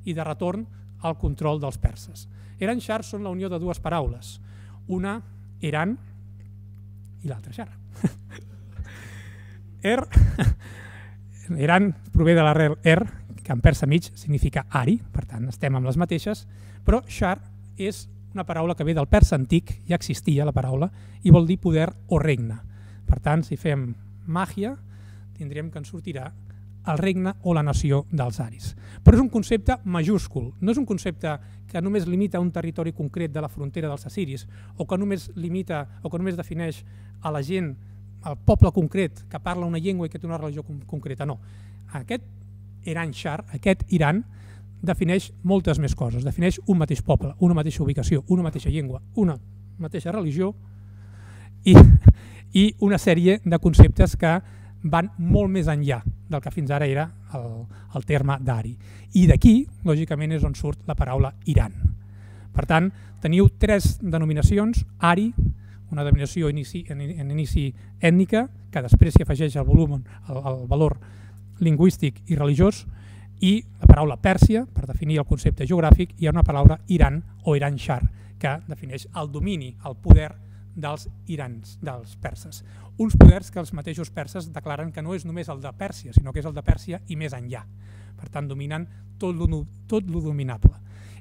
[SPEAKER 3] i de retorn al control dels perses. Iran Shar són la unió de dues paraules, una Iran i l'altra Shar. Er, Iran prové de l'arrel er, que en persa mig significa Ari, per tant estem amb les mateixes, però Shar és una paraula que ve del persa antic, ja existia la paraula, i vol dir poder o regne. Per tant, si fem màgia, tindríem que ens sortirà el regne o la nació dels aris. Però és un concepte majúscul, no és un concepte que només limita un territori concret de la frontera dels assiris, o que només limita o que només defineix a la gent, al poble concret que parla una llengua i que té una religió concreta, no. Aquest Iran Shar, aquest Iran, defineix moltes més coses, defineix un mateix poble, una mateixa ubicació, una mateixa llengua, una mateixa religió i, i una sèrie de conceptes que van molt més enllà del que fins ara era el, el terme d'Ari. I d'aquí, lògicament, és on surt la paraula Iran. Per tant, teniu tres denominacions, Ari, una denominació inici, en, en inici ètnica, que després s'hi afegeix el volum, el, el valor lingüístic i religiós, i la paraula Pèrsia, per definir el concepte geogràfic, hi ha una paraula Iran o Iran Shar, que defineix el domini, el poder dels irans, dels perses. Uns poders que els mateixos perses declaren que no és només el de Pèrsia, sinó que és el de Pèrsia i més enllà. Per tant, dominen tot lo, tot lo dominable.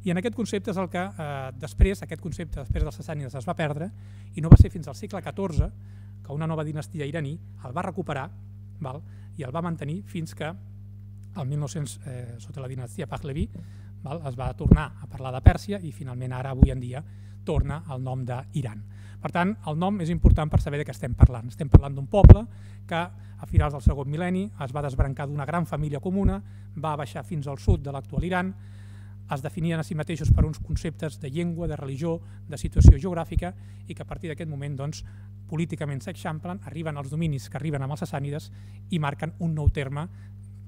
[SPEAKER 3] I en aquest concepte és el que eh, després, aquest concepte després dels sassànides es va perdre, i no va ser fins al segle catorze que una nova dinastia iraní el va recuperar, val? I el va mantenir fins que el mil nou-cents, eh, sota la dinastia Pahlavi, val? Es va tornar a parlar de Pèrsia i finalment ara, avui en dia, torna el nom d'Iran. Per tant, el nom és important per saber de què estem parlant. Estem parlant d'un poble que a finals del segon mil·lenni es va desbrancar d'una gran família comuna, va baixar fins al sud de l'actual Iran, es definien a si mateixos per uns conceptes de llengua, de religió, de situació geogràfica i que a partir d'aquest moment doncs, políticament s'eixamplen, arriben als dominis que arriben amb els sassànides i marquen un nou terme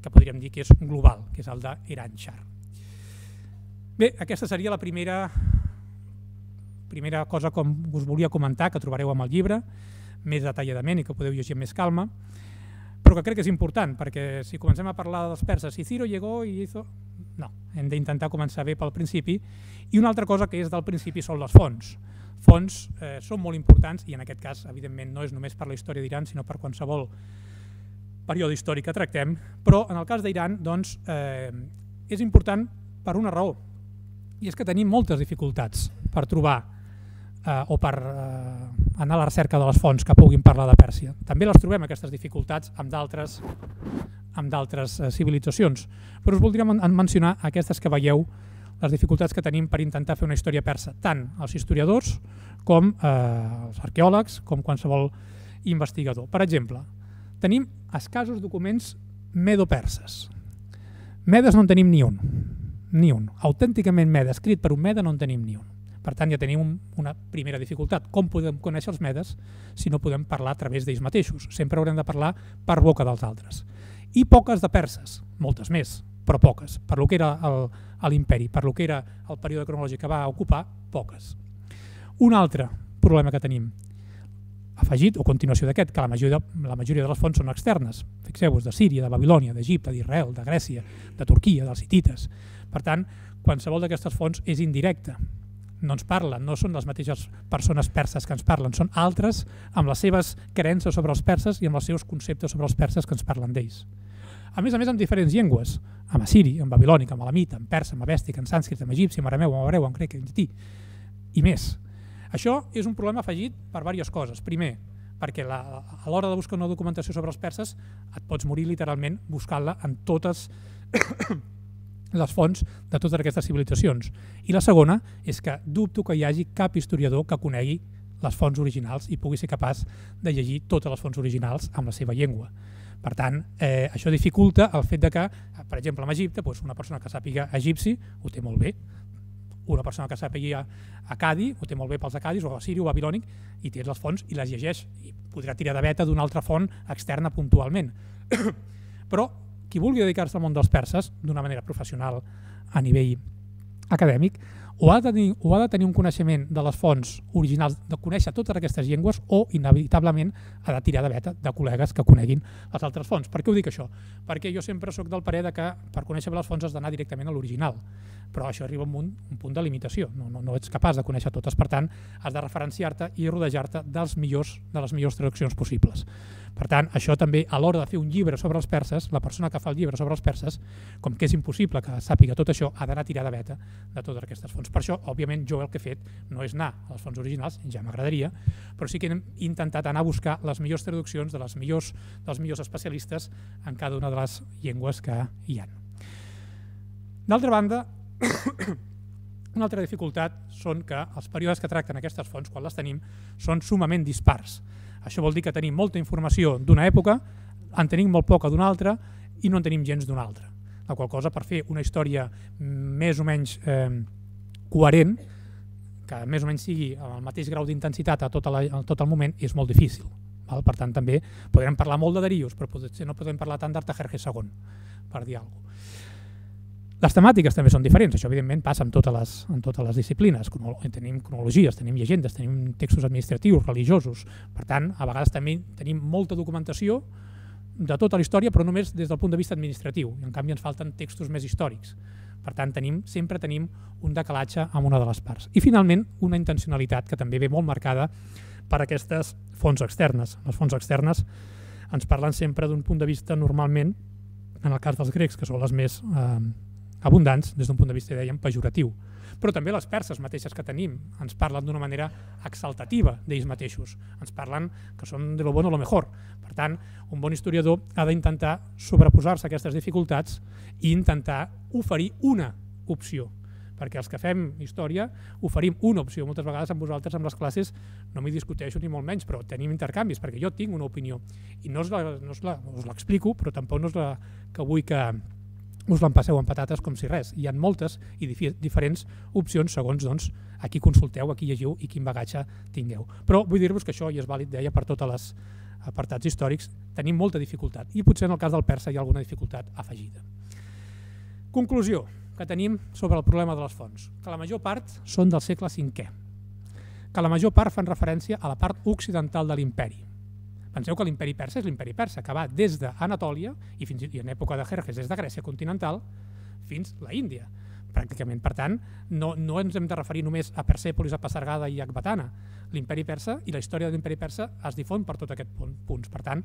[SPEAKER 3] que podríem dir que és global, que és el d'Iran Shar. Bé, aquesta seria la primera, primera cosa com us volia comentar, que trobareu amb el llibre, més detalladament i que podeu llegir amb més calma, però que crec que és important, perquè si comencem a parlar dels perses, si Ciro llegó i hizo... No, hem d'intentar començar bé pel principi. I una altra cosa que és del principi són les fonts. Fonts eh, són molt importants i en aquest cas, evidentment, no és només per la història d'Iran, sinó per qualsevol període històric que tractem, però en el cas d'Iran doncs, eh, és important per una raó, i és que tenim moltes dificultats per trobar eh, o per eh, anar a la recerca de les fonts que puguin parlar de Pèrsia. També les trobem, aquestes dificultats, amb d'altres amb d'altres eh, civilitzacions, però us voldria men mencionar aquestes que veieu, les dificultats que tenim per intentar fer una història persa, tant els historiadors com eh, els arqueòlegs, com qualsevol investigador. Per exemple, tenim escassos documents medo-perses. Medes no en tenim ni un, ni un. Autènticament mede, escrit per un mede, no en tenim ni un. Per tant, ja tenim una primera dificultat. Com podem conèixer els medes si no podem parlar a través d'ells mateixos? Sempre haurem de parlar per boca dels altres. I poques de perses, moltes més, però poques. Per lo que era l'imperi, per lo que era el període cronològic que va ocupar, poques. Un altre problema que tenim, afegit o continuació d'aquest, que la majoria, la majoria de les fonts són externes. Fixeu-vos, de Síria, de Babilònia, d'Egipte, d'Israel, de Grècia, de Turquia, dels hitites. Per tant, qualsevol d'aquestes fonts és indirecta. no ens parlen, no són les mateixes persones perses que ens parlen, són altres amb les seves creences sobre els perses i amb els seus conceptes sobre els perses que ens parlen d'ells. A més a més, amb diferents llengües, amb assiri, amb babilònic, amb alamita, amb persa, amb avèstic, amb sànscrit, amb egipci, amb arameu, amb hebreu, amb grec, amb llatí, i més. Això és un problema afegit per diverses coses. Primer, perquè la, a l'hora de buscar una documentació sobre els perses et pots morir literalment buscant-la en totes les fonts de totes aquestes civilitzacions. I la segona és que dubto que hi hagi cap historiador que conegui les fonts originals i pugui ser capaç de llegir totes les fonts originals amb la seva llengua. Per tant, eh, això dificulta el fet de que, per exemple, en Egipte, doncs una persona que sàpiga egipci ho té molt bé, una persona que sàpiga acadi ho té molt bé pels acadis, o assiri o babilònic, i té les fonts i les llegeix, i podrà tirar de veta d'una altra font externa puntualment. Però qui vulgui dedicar-se al món dels perses d'una manera professional a nivell acadèmic, o ha, de tenir, o ha de tenir un coneixement de les fonts originals, de conèixer totes aquestes llengües, o inevitablement ha de tirar de veta de col·legues que coneguin les altres fonts. Per què ho dic això? Perquè jo sempre sóc del parer de que per conèixer les fonts has d'anar directament a l'original, però això arriba a un, un punt de limitació, no, no, no ets capaç de conèixer totes, per tant has de referenciar-te i rodejar-te dels millors, de les millors traduccions possibles. Per tant, això també, a l'hora de fer un llibre sobre els perses, la persona que fa el llibre sobre els perses, com que és impossible que sàpiga tot això, ha d'anar a tirar de veta de totes aquestes fonts. Per això, òbviament, jo el que he fet no és anar a les fonts originals, ja m'agradaria, però sí que hem intentat anar a buscar les millors traduccions de les millors, dels millors especialistes en cada una de les llengües que hi ha. D'altra banda, una altra dificultat són que els períodes que tracten aquestes fonts, quan les tenim, són sumament dispars. Això vol dir que tenim molta informació d'una època, en tenim molt poca d'una altra i no en tenim gens d'una altra. La qual cosa, per fer una història més o menys eh, coherent, que més o menys sigui amb el mateix grau d'intensitat a tot, la, a tot el moment, és molt difícil. Val? Per tant, també podrem parlar molt de Darius, però potser no podem parlar tant d'Artajerjes segon, per dir alguna cosa. Les temàtiques també són diferents, això evidentment passa en totes les, en totes les disciplines. Tenim cronologies, tenim llegendes, tenim textos administratius, religiosos. Per tant, a vegades també tenim molta documentació de tota la història, però només des del punt de vista administratiu. I en canvi ens falten textos més històrics. Per tant, tenim, sempre tenim un decalatge amb una de les parts. I finalment, una intencionalitat que també ve molt marcada per aquestes fonts externes. Les fonts externes ens parlen sempre d'un punt de vista normalment, en el cas dels grecs, que són les més eh, abundants, des d'un punt de vista, dèiem, pejoratiu. Però també les perses mateixes que tenim ens parlen d'una manera exaltativa d'ells mateixos. Ens parlen que són de lo bueno o lo mejor. Per tant, un bon historiador ha d'intentar sobreposar-se a aquestes dificultats i intentar oferir una opció. Perquè els que fem història oferim una opció. Moltes vegades amb vosaltres, amb les classes, no m'hi discuteixo ni molt menys, però tenim intercanvis, perquè jo tinc una opinió. I no us l'explico, però tampoc no és la que vull que us l'empasseu amb patates com si res. Hi ha moltes i diferents opcions segons doncs, a qui consulteu, a qui llegiu i quin bagatge tingueu. Però vull dir-vos que això, i és vàlid, deia, per tots els apartats històrics, tenim molta dificultat. I potser en el cas del persa hi ha alguna dificultat afegida. Conclusió que tenim sobre el problema de les fonts, que la major part són del segle cinquè, que la major part fan referència a la part occidental de l'imperi. Penseu que l'imperi persa és l'imperi persa, que va des d'Anatòlia, i fins i en època de Jerjes des de Grècia continental, fins a l'Índia, pràcticament. Per tant, no, no ens hem de referir només a Persèpolis, a Pasargada i a Ecbatana. L'imperi persa i la història de l'imperi persa es difon per tot aquest punts. Per tant,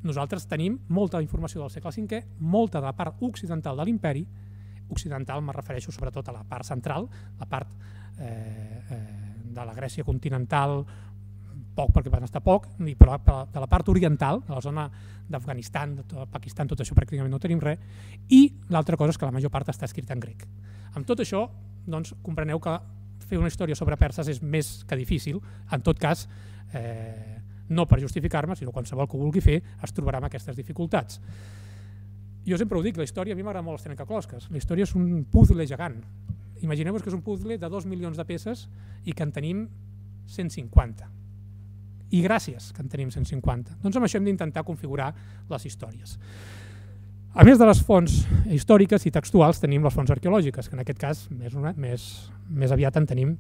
[SPEAKER 3] nosaltres tenim molta informació del segle cinquè, molta de la part occidental de l'imperi. Occidental me refereixo sobretot a la part central, la part eh, eh, de la Grècia continental, poc perquè van estar poc, però de la part oriental, de la zona d'Afganistan, de Pakistan, tot això pràcticament no tenim res, i l'altra cosa és que la major part està escrita en grec. Amb tot això, doncs, compreneu que fer una història sobre perses és més que difícil. En tot cas, eh, no per justificar-me, sinó qualsevol que ho vulgui fer, es trobarà amb aquestes dificultats. Jo sempre ho dic, la història, a mi m'agrada molt els trencaclosques. La història és un puzzle gegant. Imagineu-vos que és un puzzle de dos milions de peces i que en tenim cent cinquanta. I gràcies que en tenim cent cinquanta. Doncs amb això hem d'intentar configurar les històries. A més de les fonts històriques i textuals, tenim les fonts arqueològiques, que en aquest cas més, una, més, més aviat en tenim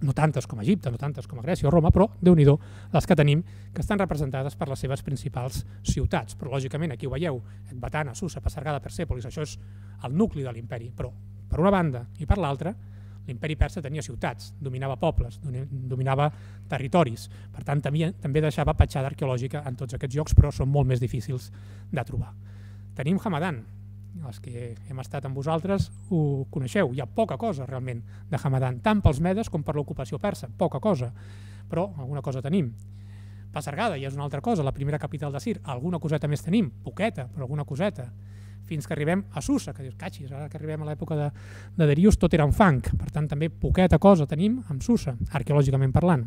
[SPEAKER 3] no tantes com a Egipte, no tantes com a Grècia o Roma, però, déu-n'hi-do, les que tenim, que estan representades per les seves principals ciutats. Però, lògicament, aquí ho veieu, Ecbatana, Susa, Pasargada, Persèpolis, això és el nucli de l'imperi. Però, per una banda i per l'altra, L'imperi persa tenia ciutats, dominava pobles, dominava territoris, per tant també, també deixava petjada arqueològica en tots aquests llocs, però són molt més difícils de trobar. Tenim Hamadan, els que hem estat amb vosaltres ho coneixeu, hi ha poca cosa realment de Hamadan, tant pels medes com per l'ocupació persa, poca cosa, però alguna cosa tenim. Pasargada ja és una altra cosa, la primera capital de Cir, alguna coseta més tenim, poqueta, però alguna coseta, fins que arribem a Susa, que dius, catxis, ara que arribem a l'època de, de Darius tot era en fang, per tant també poqueta cosa tenim amb Susa, arqueològicament parlant.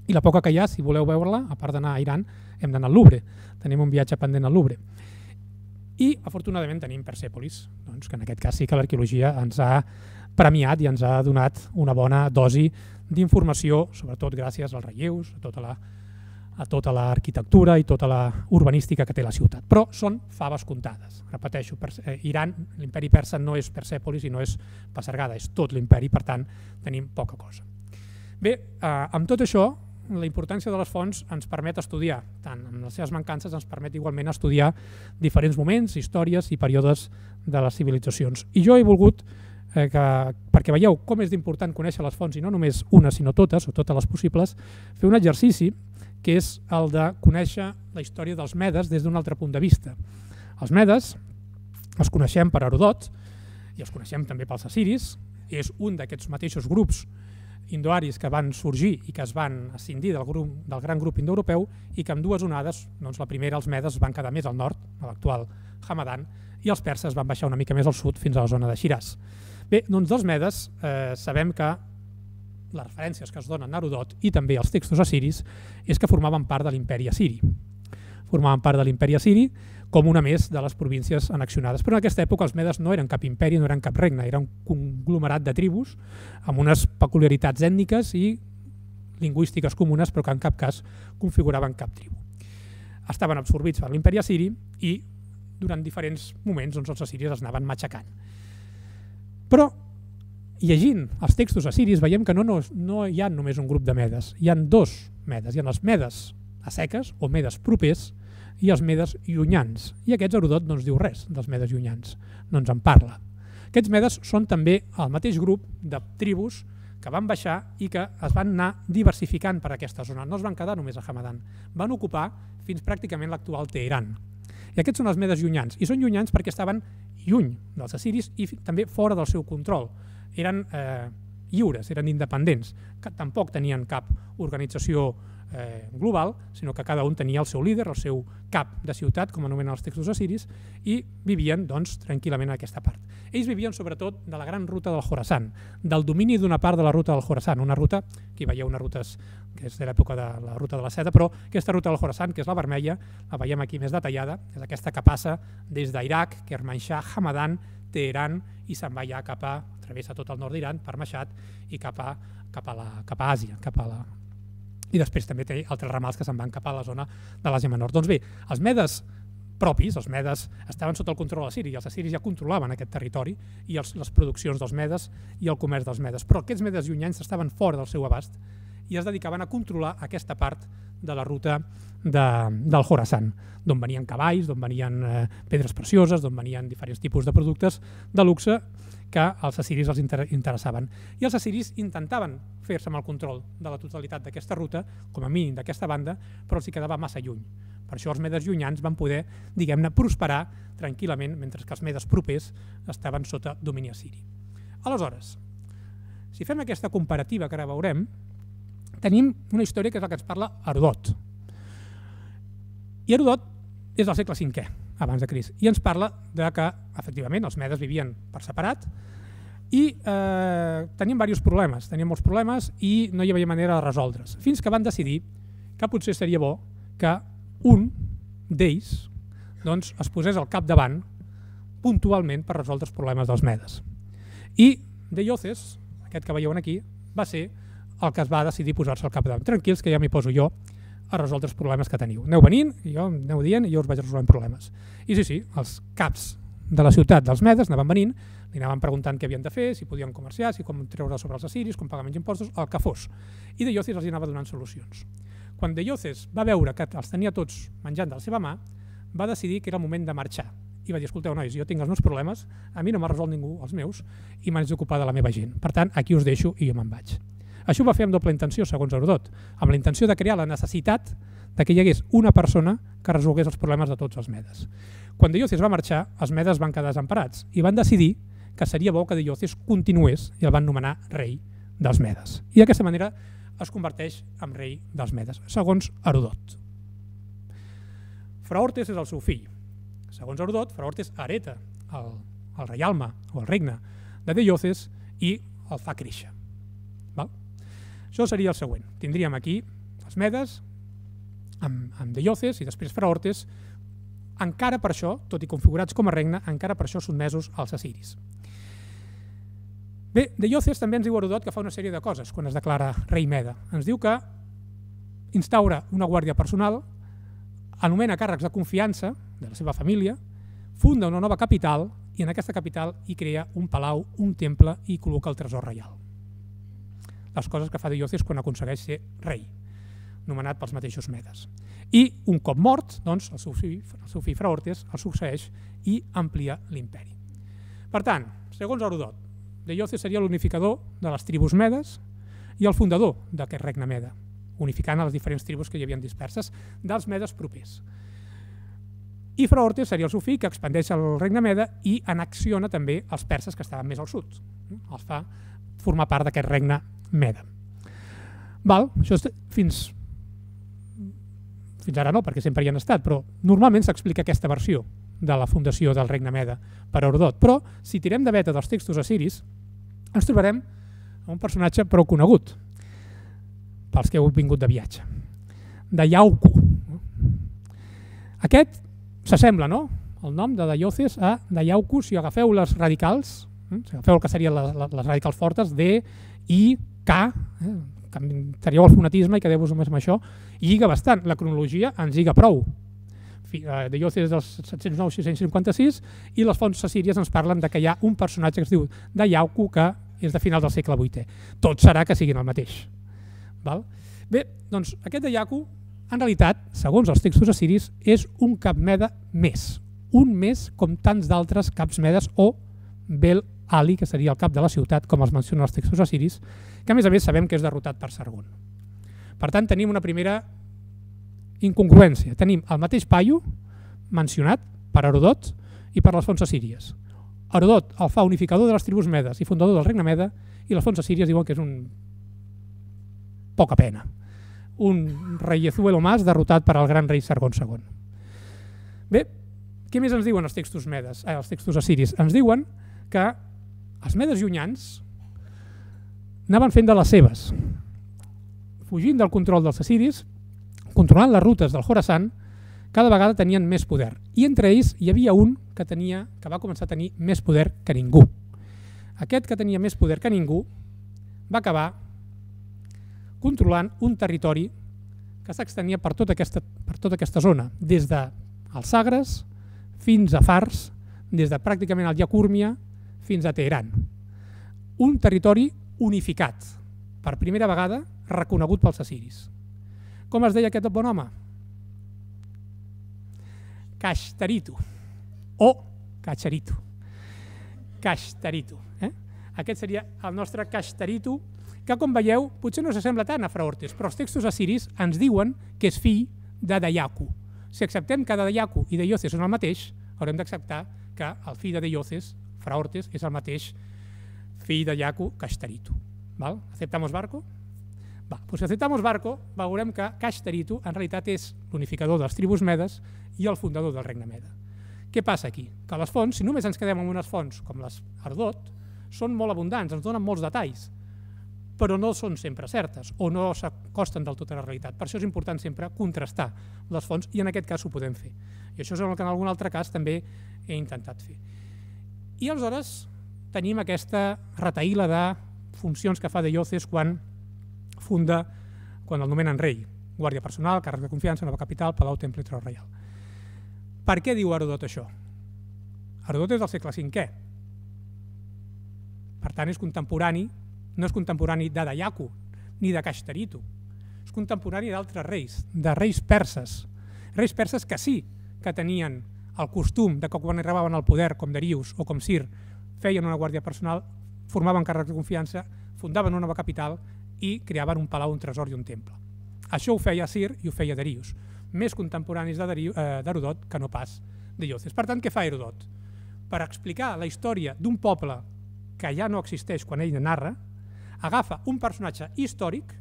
[SPEAKER 3] I la poca que hi ha, si voleu veure-la, a part d'anar a Iran, hem d'anar al Louvre, tenim un viatge pendent al Louvre. I afortunadament tenim Persèpolis, doncs, que en aquest cas sí que l'arqueologia ens ha premiat i ens ha donat una bona dosi d'informació, sobretot gràcies als relleus, a tota la a tota l'arquitectura i tota la urbanística que té la ciutat. Però són faves comptades. Repeteixo, Iran, l'imperi persa no és Persèpolis i no és Pasargada, és tot l'imperi, per tant tenim poca cosa. Bé, amb tot això, la importància de les fonts ens permet estudiar, tant amb les seves mancances ens permet igualment estudiar diferents moments, històries i períodes de les civilitzacions. I jo he volgut, eh, que, perquè veieu com és d'important conèixer les fonts, i no només una sinó totes, o totes les possibles, fer un exercici que és el de conèixer la història dels medes des d'un altre punt de vista. Els medes els coneixem per Herodot i els coneixem també pels assiris, és un d'aquests mateixos grups indoaris que van sorgir i que es van escindir del, grup, del gran grup indoeuropeu i que amb dues onades, doncs la primera els medes van quedar més al nord, a l'actual Hamadan, i els perses van baixar una mica més al sud fins a la zona de Shiraz. Bé, doncs dels medes eh, sabem que les referències que es donen a Herodot i també als textos assiris és que formaven part de l'imperi assiri. Formaven part de l'imperi assiri com una més de les províncies annexionades. Però en aquesta època els medes no eren cap imperi, no eren cap regne, era un conglomerat de tribus amb unes peculiaritats ètniques i lingüístiques comunes, però que en cap cas configuraven cap tribu. Estaven absorbits per l'imperi assiri i durant diferents moments doncs, els assiris els anaven matxacant. Però llegint els textos assiris veiem que no, no, no hi ha només un grup de medes, hi ha dos medes, hi ha els medes a seques o medes propers i els medes llunyans. I aquests Herodot no ens diu res dels medes llunyans, no ens en parla. Aquests medes són també el mateix grup de tribus que van baixar i que es van anar diversificant per aquesta zona. No es van quedar només a Hamadan, van ocupar fins pràcticament l'actual Teheran. I aquests són els medes llunyans, i són llunyans perquè estaven lluny dels assiris i també fora del seu control. Eren eh, lliures, eren independents, que tampoc tenien cap organització eh, global, sinó que cada un tenia el seu líder, el seu cap de ciutat, com anomenen els textos assiris, i vivien doncs, tranquil·lament en aquesta part. Ells vivien sobretot de la gran ruta del Khorasan, del domini d'una part de la ruta del Khorasan, una ruta, aquí veieu unes rutes que és de l'època de la ruta de la seda, però aquesta ruta del Khorasan, que és la vermella, la veiem aquí més detallada, és aquesta que passa des d'Iraq, Kermanshah, Hamadan, Teheran, i se'n va ja cap a, travessa tot el nord d'Iran, per Mashhad, i cap a, cap a, la, cap a Àsia, cap a la... I després també té altres ramals que se'n van cap a la zona de l'Àsia Menor. Doncs bé, els medes propis, els medes estaven sota el control assiri, i els assiris ja controlaven aquest territori i els, les produccions dels medes i el comerç dels medes, però aquests medes llunyans estaven fora del seu abast i es dedicaven a controlar aquesta part de la ruta de, del Khorasan, d'on venien cavalls, d'on venien eh, pedres precioses, d'on venien diferents tipus de productes de luxe que als assiris els inter interessaven. I els assiris intentaven fer-se amb el control de la totalitat d'aquesta ruta, com a mínim d'aquesta banda, però els hi quedava massa lluny. Per això els medes llunyans van poder, diguem-ne, prosperar tranquil·lament, mentre que els medes propers estaven sota domini assiri. Aleshores, si fem aquesta comparativa que ara veurem, tenim una història que és la que ens parla Herodot. I Herodot és del segle cinquè, abans de Crist, i ens parla de que, efectivament, els medes vivien per separat i eh, tenien diversos problemes, tenien molts problemes i no hi havia manera de resoldre's, fins que van decidir que potser seria bo que un d'ells doncs, es posés al capdavant puntualment per resoldre els problemes dels medes. I Deioces, aquest que veieu aquí, va ser el que es va decidir posar-se al capdavant. Tranquils, que ja m'hi poso jo a resoldre els problemes que teniu. Aneu venint, i jo aneu dient, i jo us vaig resolent problemes. I sí, sí, els caps de la ciutat dels medes anaven venint, li anaven preguntant què havien de fer, si podien comerciar, si com treure sobre els assiris, com pagar menys impostos, el que fos. I Deioces els anava donant solucions. Quan Deioces va veure que els tenia tots menjant de la seva mà, va decidir que era el moment de marxar i va dir, escolteu nois, jo tinc els meus problemes, a mi no m'ha resolt ningú els meus i m'haig d'ocupar de la meva gent. Per tant, aquí us deixo i jo me'n vaig. Això ho va fer amb doble intenció, segons Herodot, amb la intenció de crear la necessitat de que hi hagués una persona que resolgués els problemes de tots els medes. Quan Deioces va marxar, els medes van quedar desemparats i van decidir que seria bo que Deioces continués i el van nomenar rei dels medes. I d'aquesta manera es converteix en rei dels medes, segons Herodot. Fraortes és el seu fill. Segons Herodot, Fraortes hereta el, el reialme o el regne de Deioces i el fa créixer. Val? Això seria el següent. Tindríem aquí els medes amb, amb Deioces i després Fraortes, encara per això, tot i configurats com a regne, encara per això sotmesos als assiris. Bé, Deioces també ens diu Herodot que fa una sèrie de coses quan es declara rei mede. Ens diu que instaura una guàrdia personal, anomena càrrecs de confiança de la seva família, funda una nova capital i en aquesta capital hi crea un palau, un temple i col·loca el tresor reial. Les coses que fa Deioces quan aconsegueix ser rei, nomenat pels mateixos medes. I un cop mort, doncs, el seu fill, el seu fill Fraortes el succeeix i amplia l'imperi. Per tant, segons Herodot, Deioces seria l'unificador de les tribus medes i el fundador d'aquest regne mede, unificant les diferents tribus que hi havien disperses dels medes propers. I Fraortes seria el seu fill que expandeix el regne mede i annexiona també els perses que estaven més al sud. Els fa formar part d'aquest regne mede. Val? Això és fins, fins ara no, perquè sempre hi han estat, però normalment s'explica aquesta versió de la fundació del regne mede per Herodot. Però si tirem de veta dels textos assiris, ens trobarem un personatge prou conegut pels que heu vingut de viatge, de Iauku. Aquest s'assembla, no?, el nom de Deioces a Iauku, si agafeu les radicals, si agafeu el que serien les, les radicals fortes, D, I, K, eh, canviaríeu el fonetisme i quedeu-vos només amb això, i lliga bastant, la cronologia ens lliga prou. Deioces dels set-cents nou a sis-cents cinquanta-sis i les fonts assíries ens parlen de que hi ha un personatge que es diu Iauku que és de final del segle vuitè. Tot serà que siguin el mateix. Val? Bé, doncs aquest Iauku, en realitat, segons els textos assiris, és un cap mede més. Un més com tants d'altres caps medes o Bel Ali, que seria el cap de la ciutat, com els mencionen els textos assiris, que a més a més sabem que és derrotat per Sargon. Per tant, tenim una primera incongruència. Tenim el mateix paio mencionat per Herodot i per les fonts assíries. Herodot el fa unificador de les tribus medes i fundador del regne mede i les fonts assíries diuen que és un poca pena. Un reiezuelo mas derrotat per al gran rei Sargon segon. Bé, què més ens diuen els textos medes, eh, els textos assiris? Ens diuen que els medes llunyans anaven fent de les seves, fugint del control dels assiris, controlant les rutes del Khorasan, cada vegada tenien més poder. I entre ells hi havia un que, tenia, que va començar a tenir més poder que ningú. Aquest que tenia més poder que ningú va acabar controlant un territori que s'extenia per tota aquesta, per tota aquesta zona, des dels Sagres fins a Fars, des de pràcticament el Yacúrmia fins a Teheran. Un territori unificat, per primera vegada reconegut pels assiris. Com es deia aquest bon home? Kashtaritu o Kacharitu. Kashtaritu. Eh? Aquest seria el nostre Kashtaritu, que com veieu potser no s'assembla tant a Fraortes, però els textos assiris ens diuen que és fill de Iauku. Si acceptem que Iauku i Deioces són el mateix, haurem d'acceptar que el fill de Deioces, Fraortes, és el mateix fill de Iauku, Kashtaritu. Val? ¿Aceptamos barco? Va, doncs si acceptamos barco, veurem que Kashtaritu en realitat és l'unificador de les tribus medes i el fundador del regne mede. Què passa aquí? Que les fonts, si només ens quedem amb unes fonts com les Herodot, són molt abundants, ens donen molts detalls, però no són sempre certes o no s'acosten del tot a la realitat. Per això és important sempre contrastar les fonts i en aquest cas ho podem fer. I això és el que en algun altre cas també he intentat fer. I aleshores tenim aquesta retaïla de funcions que fa Deioces quan funda, quan el nomenen rei, guàrdia personal, càrrec de confiança, nova capital, palau, temple i tron reial. Per què diu Herodot això? Herodot és del segle cinquè. Per tant, és contemporani, no és contemporani de Iauku ni de Kashtaritu. És contemporani d'altres reis, de reis perses. Reis perses que sí que tenien el costum de que quan arribaven al poder, com Darius o com Cir, feien una guàrdia personal, formaven càrrecs de confiança, fundaven una nova capital i creaven un palau, un tresor i un temple. Això ho feia Cir i ho feia Darius, més contemporanis d'Herodot que no pas de Iòces. Per tant, què fa Herodot? Per explicar la història d'un poble que ja no existeix quan ell narra, agafa un personatge històric,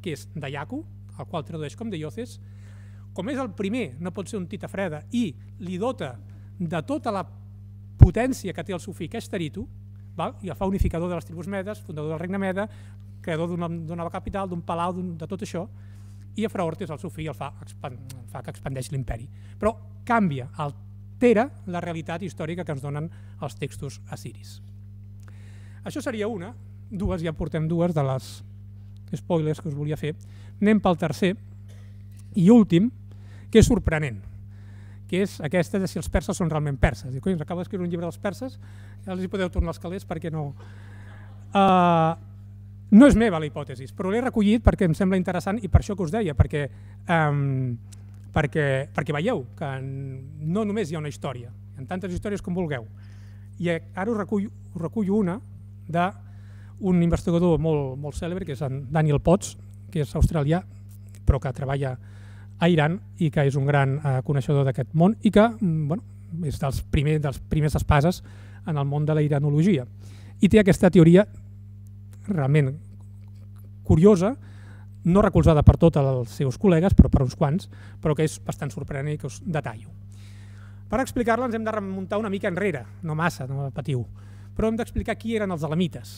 [SPEAKER 3] que és Dayaku, el qual tradueix com de Iòces, com és el primer, no pot ser un tita freda, i li dota de tota la potència que té el sufí, que és Taritu, i el fa unificador de les tribus medes, fundador del regne meda, creador d'una nova capital, d'un palau, de tot això, i Efraortes, el sufí, el fa que expandeix l'imperi. Però canvia, altera la realitat històrica que ens donen els textos assiris. Això seria una, dues, ja portem dues de les spoilers que us volia fer. Anem pel tercer i últim, que és sorprenent, que és aquesta de si els perses són realment perses. Dic, coi, ens acaba d'escriure un llibre dels perses, ja els hi podeu tornar els calés perquè no... Uh, no és meva la hipòtesi, però l'he recollit perquè em sembla interessant i per això que us deia, perquè, um, perquè, perquè veieu que no només hi ha una història, hi ha tantes històries com vulgueu. I ara us recullo, us recullo una d'un investigador molt, molt cèlebre, que és en Daniel Potts, que és australià, però que treballa a Iran i que és un gran eh, coneixedor d'aquest món i que bueno, és dels, primer, dels primers espases en el món de la iranologia. I té aquesta teoria realment curiosa, no recolzada per tots els seus col·legues, però per uns quants, però que és bastant sorprenent i que us detallo. Per explicar-la ens hem de remuntar una mica enrere, no massa, no patiu, però hem d'explicar qui eren els elamites.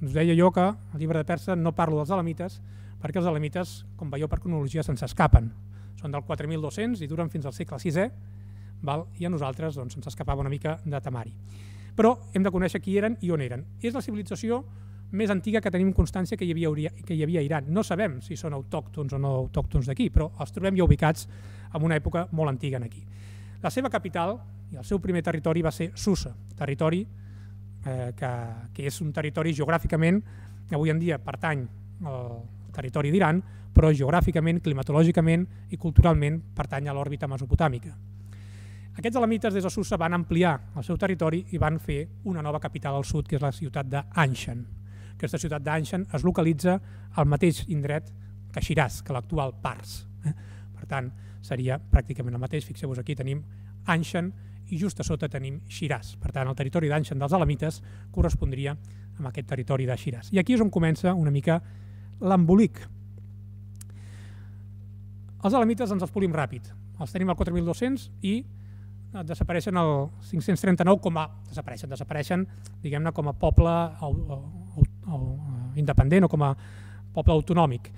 [SPEAKER 3] Us deia jo que al llibre de Persa no parlo dels elamites perquè els elamites, com veieu per cronologia, se'ns escapen. Són del quatre mil dos-cents i duren fins al segle sisè, i a nosaltres se'ns escapava una mica de temari. Però hem de conèixer qui eren i on eren. És la civilització més antiga que tenim constància que hi havia, que hi havia a Iran. No sabem si són autòctons o no autòctons d'aquí, però els trobem ja ubicats en una època molt antiga aquí. La seva capital i el seu primer territori va ser Susa, territori eh, que, que és un territori geogràficament, que avui en dia pertany al territori d'Iran, però geogràficament, climatològicament i culturalment pertany a l'òrbita mesopotàmica. Aquests elamites des de Susa van ampliar el seu territori i van fer una nova capital al sud, que és la ciutat d'Anshan. Aquesta ciutat d'Anshan es localitza al mateix indret que Shiraz, que l'actual Pars. Per tant, seria pràcticament el mateix. Fixeu-vos, aquí tenim Anshan i just a sota tenim Shiraz. Per tant, el territori d'Anshan dels elamites correspondria amb aquest territori de Shiraz. I aquí és on comença una mica l'embolic. Els elamites ens els polim ràpid. Els tenim al quatre mil dos-cents i desapareixen al cinc-cents trenta-nou com a... desapareixen, desapareixen, diguem-ne, com a poble independent o com a poble autonòmic.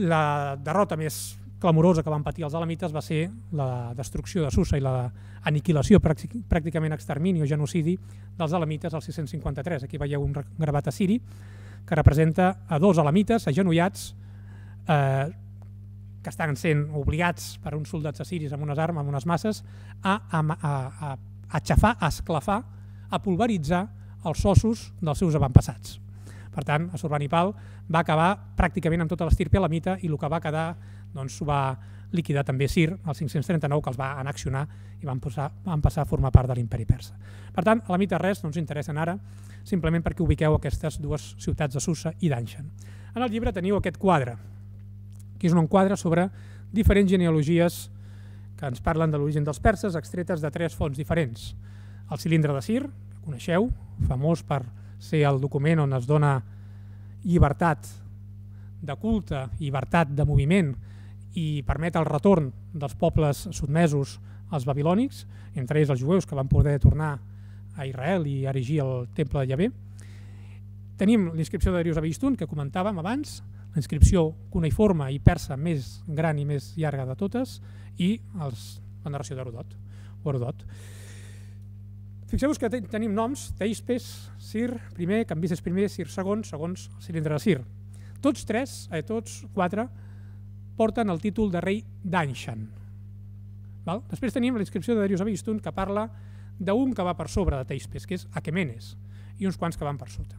[SPEAKER 3] La derrota més clamorosa que van patir els elamites va ser la destrucció de Susa i l'aniquilació, pràcticament extermini o genocidi dels elamites al sis-cents cinquanta-tres. Aquí veieu un gravat assiri que representa a dos elamites agenollats eh, que estan sent obligats per uns soldats assiris amb unes armes, amb unes masses, a, a, a, a aixafar, a esclafar, a pulveritzar els ossos dels seus avantpassats. Per tant, Assurbanipal va acabar pràcticament amb tota l'estirpe elamita i el que va quedar doncs, ho va liquidar també Cir, al cinc-cents trenta-nou, que els va annexionar i van passar, van passar a formar part de l'imperi persa. Per tant, elamites res no ens interessen ara, simplement perquè ubiqueu aquestes dues ciutats de Susa i d'Anshan. En el llibre teniu aquest quadre, que és un quadre sobre diferents genealogies que ens parlen de l'origen dels perses, extretes de tres fonts diferents. El cilindre de Cir, que coneixeu, famós per ser el document on es dona llibertat de culte, llibertat de moviment i permet el retorn dels pobles sotmesos als babilònics, entre ells els jueus que van poder tornar a Israel i erigir el temple de Yahvé. Tenim l'inscripció de Darius Abistun, que comentàvem abans, la inscripció cuneïforme i persa més gran i més llarga de totes, i els, la narració d'Herodot. Fixeu-vos que tenim noms, Teispes, Cir primer, Cambises primer, Cir segon, segons el cilindre de Cir. Tots tres, eh, tots quatre, porten el títol de rei d'Anshan. Després tenim la inscripció de Darius Abistun, que parla d'un que va per sobre de Teispes, que és Aquemenes, i uns quants que van per sota.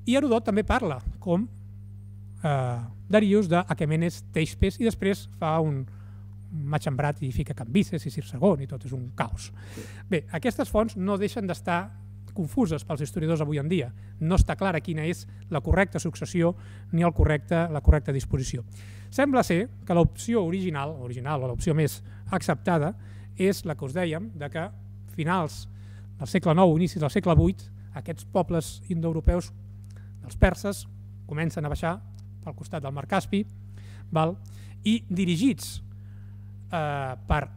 [SPEAKER 3] I Herodot també parla com eh, Darius d'Aquemenes Teispes, i després fa un, Machambrat i fica Cambises i Cir segon i tot és un caos. Bé, aquestes fonts no deixen d'estar confuses pels historiadors avui en dia. No està clara quina és la correcta successió ni el correcte, la correcta disposició. Sembla ser que l'opció original, original o l'opció més acceptada és la que us dèiem, de que finals del segle nou, inicis del segle vuit, aquests pobles indoeuropeus dels perses comencen a baixar pel costat del mar Caspi, val? I dirigits eh, per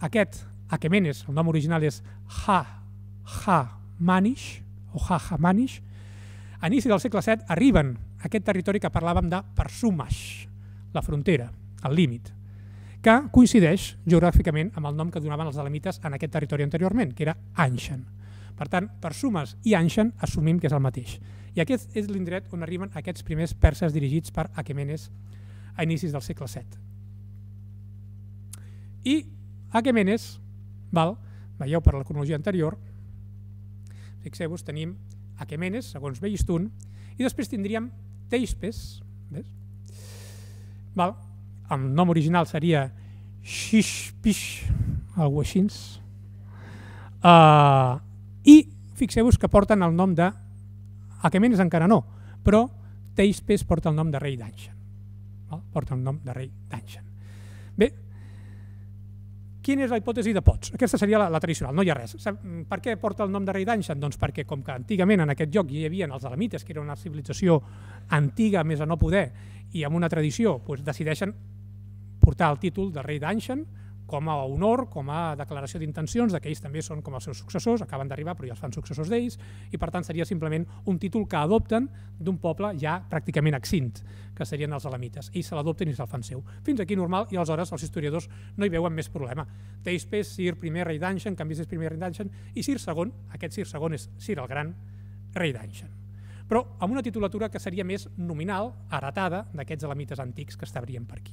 [SPEAKER 3] aquest Aquemenes, el nom original és Ha-Ha-Manish, o Ha-Ha-Manish, a inici del segle set arriben a aquest territori que parlàvem de Persumash, la frontera, el límit, que coincideix geogràficament amb el nom que donaven els elamites en aquest territori anteriorment, que era Anshan. Per tant, Persumas i Anshan assumim que és el mateix. I aquest és l'indret on arriben aquests primers perses dirigits per Aquemenes a inicis del segle set. I Aquemenes, val, veieu per la cronologia anterior, fixeu-vos, tenim Aquemenes, segons Behistun, i després tindríem Teispes, ves? Val, el nom original seria Shishpish, algo així. Uh, I fixeu-vos que porten el nom de... Aquemenes encara no, però Teispes porta el nom de rei d'Anshan. Porta el nom de rei d'Anshan. Bé, quina és la hipòtesi de Potts? Aquesta seria la, la tradicional, no hi ha res. Per què porta el nom de rei d'Anshan? Doncs perquè com que antigament en aquest lloc hi havia els elamites, que era una civilització antiga més a no poder, i amb una tradició doncs decideixen portar el títol de rei d'Anshan com a honor, com a declaració d'intencions, que ells també són com els seus successors, acaben d'arribar però ja els fan successors d'ells, i per tant seria simplement un títol que adopten d'un poble ja pràcticament extint, que serien els elamites. Ells se l'adopten i se'l fan seu. Fins aquí normal, i aleshores els historiadors no hi veuen més problema. Teispes, Cir primer rei d'Anshan, Cambises primer rei d'Anshan, i Cir segon, aquest Cir segon és Cir el Gran, rei d'Anshan. Però amb una titulatura que seria més nominal, heretada d'aquests elamites antics que estabrien per aquí.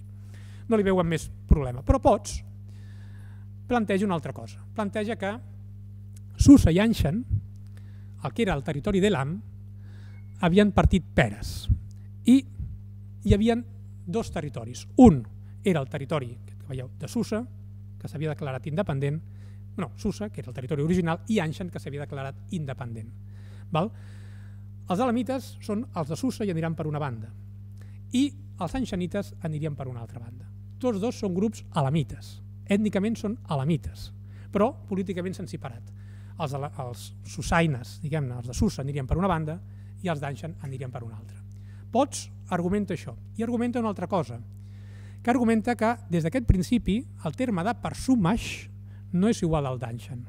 [SPEAKER 3] No li veuen més problema. Però Potts planteja una altra cosa. Planteja que Susa i Anshan, el que era el territori d'Elam, havien partit peres. I hi havia dos territoris. Un era el territori que veieu de Susa, que s'havia declarat independent, no, Susa, que era el territori original, i Anshan, que s'havia declarat independent. Val? Els elamites són els de Susa i aniran per una banda, i els anshanites anirien per una altra banda. Tots dos són grups elamites. Ètnicament són elamites, però políticament s'han separat. Els, els susaines, diguem-ne, els de Susa anirien per una banda i els d'Anshan anirien per una altra. Potts argumenta això, i argumenta una altra cosa, que argumenta que des d'aquest principi el terme de Persumash no és igual al d'Anshan.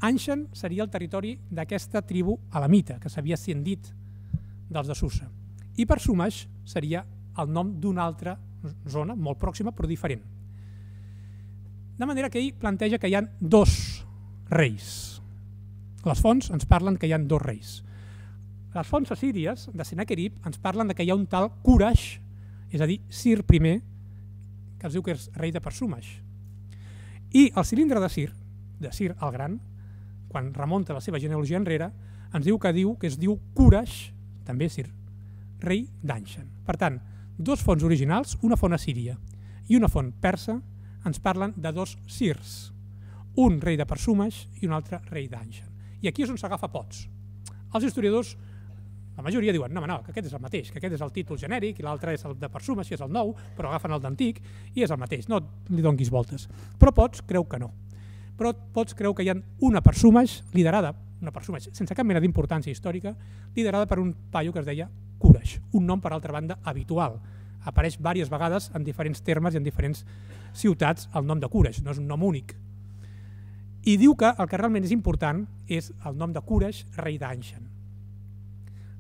[SPEAKER 3] Anshan seria el territori d'aquesta tribu elamita que s'havia ascendit dels de Susa, i Persumash seria el nom d'una altra zona molt pròxima però diferent. De manera que ell planteja que hi ha dos reis. Les fonts ens parlen que hi ha dos reis. Les fonts assíries de Sennacherib ens parlen que hi ha un tal Kurash, és a dir, Cir primer, que es diu que és rei de Persumash. I el cilindre de Cir, de Cir el Gran, quan remunta la seva genealogia enrere, ens diu que diu que es diu Kurash, també Cir, rei d'Anshan. Per tant, dos fonts originals, una font assíria i una font persa, ens parlen de dos Cirs, un rei de Persumash i un altre rei d'Anshan. I aquí és on s'agafa Potts. Els historiadors, la majoria diuen, no, no, que aquest és el mateix, que aquest és el títol genèric i l'altre és el de Persumash i és el nou, però agafen el d'antic i és el mateix, no li donguis voltes. Però Potts creu que no. Però Potts creu que hi ha una Persumash liderada, una Persumash sense cap mena d'importància històrica, liderada per un paio que es deia Kurash, un nom per altra banda habitual. Apareix diverses vegades en diferents termes i en diferents ciutats el nom de Kurash, no és un nom únic. I diu que el que realment és important és el nom de Kurash, rei d'Anshan,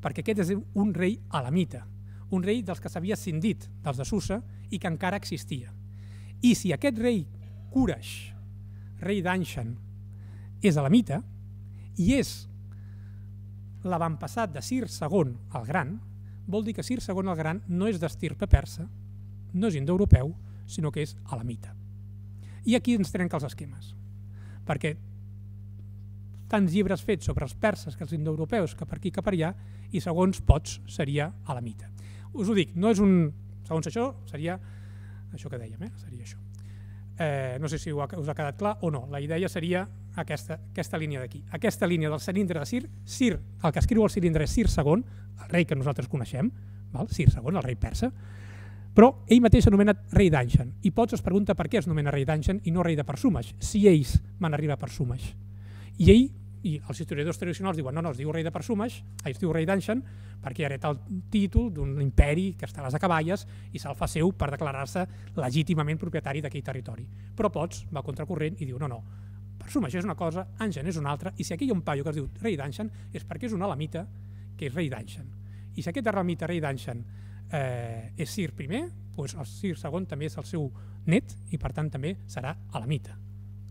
[SPEAKER 3] perquè aquest és un rei elamita, un rei dels que s'havia ascendit dels de Susa i que encara existia. I si aquest rei Kurash, rei d'Anshan, és elamita i és l'avantpassat de Cir segon el Gran, vol dir que Cir segon el Gran no és d'estirpe persa, no és indoeuropeu, sinó que és elamita. I aquí ens trenca els esquemes, perquè tants llibres fets sobre els perses que els indoeuropeus que per aquí que per allà, i segons Potts seria elamita. Us ho dic, no és un, segons això seria això que dèiem, seria això. No sé si us ha quedat clar o no. La idea seria aquesta línia d'aquí. Aquesta línia del cilindre de Cir, Cir, el que escriu el cilindre és Cir segon, el rei que nosaltres coneixem, Cir segon, el rei persa, però ell mateix s'anomena rei d'Anshan. I Potts es pregunta per què es nomena rei d'Anshan i no rei de Persumesh, si ells van arribar a Persumesh. I ell, i els historiadors tradicionals diuen no, no, es diu rei de Persumesh, es diu rei d'Anshan, perquè hereta el títol d'un imperi que està a les acaballes i se'l fa seu per declarar-se legítimament propietari d'aquell territori. Però Potts va contracorrent i diu no, no, Persumesh és una cosa, Anshan és una altra, i si aquí hi ha un paio que es diu rei d'Anshan és perquè és un elamita que és rei d'Anshan. I si aquest elamita rei d'Anshan és Cir primer, doncs el Cir segon també és el seu net i per tant també serà elamita.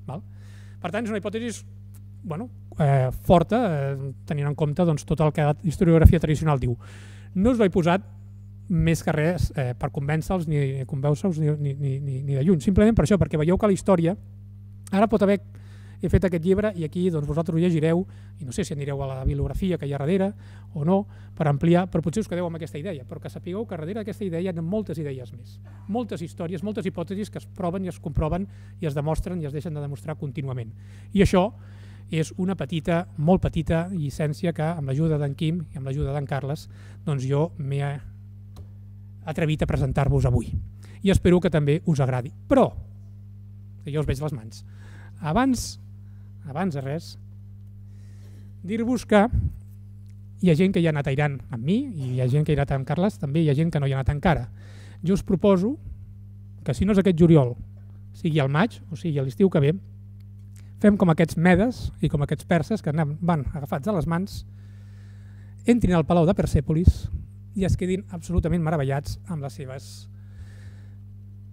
[SPEAKER 3] Per tant és una hipòtesi forta, tenint en compte tot el que la historiografia tradicional diu. No us ho he posat més que res per convèncer-los ni convèncer-los ni de lluny, simplement per això, perquè veieu que la història ara pot haver he fet aquest llibre i aquí vosaltres ho llegireu i no sé si anireu a la bibliografia que hi ha darrere o no per ampliar, però potser us quedeu amb aquesta idea, però que sapigueu que darrere d'aquesta idea hi ha moltes idees més, moltes històries, moltes hipòtesis que es proven i es comproven i es demostren i es deixen de demostrar contínuament. I això és una petita, molt petita llicència que amb l'ajuda d'en Quim i amb l'ajuda d'en Carles doncs jo m'he atrevit a presentar-vos avui i espero que també us agradi. Però, que jo us veig les mans, abans abans de res, dir-vos que hi ha gent que hi ha anat airant amb mi i hi ha gent que hi ha anat amb Carles, també hi ha gent que no hi ha anat encara. Jo us proposo que si no és aquest juliol, sigui al maig o sigui a l'estiu que ve, fem com aquests medes i com aquests perses que van agafats a les mans, entrin al Palau de Persèpolis i es quedin absolutament meravellats amb les seves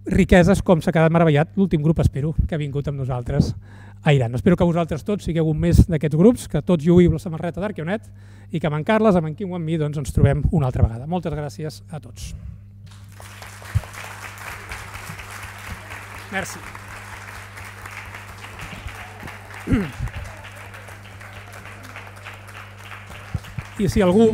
[SPEAKER 3] riqueses com s'ha quedat meravellat l'últim grup, espero, que ha vingut amb nosaltres a Iran. Espero que vosaltres tots sigueu un més d'aquests grups, que tots lluïu la samarreta d'Arqueonet i que amb en Carles, amb en Quim o amb mi doncs ens trobem una altra vegada. Moltes gràcies a tots. Merci. I si algú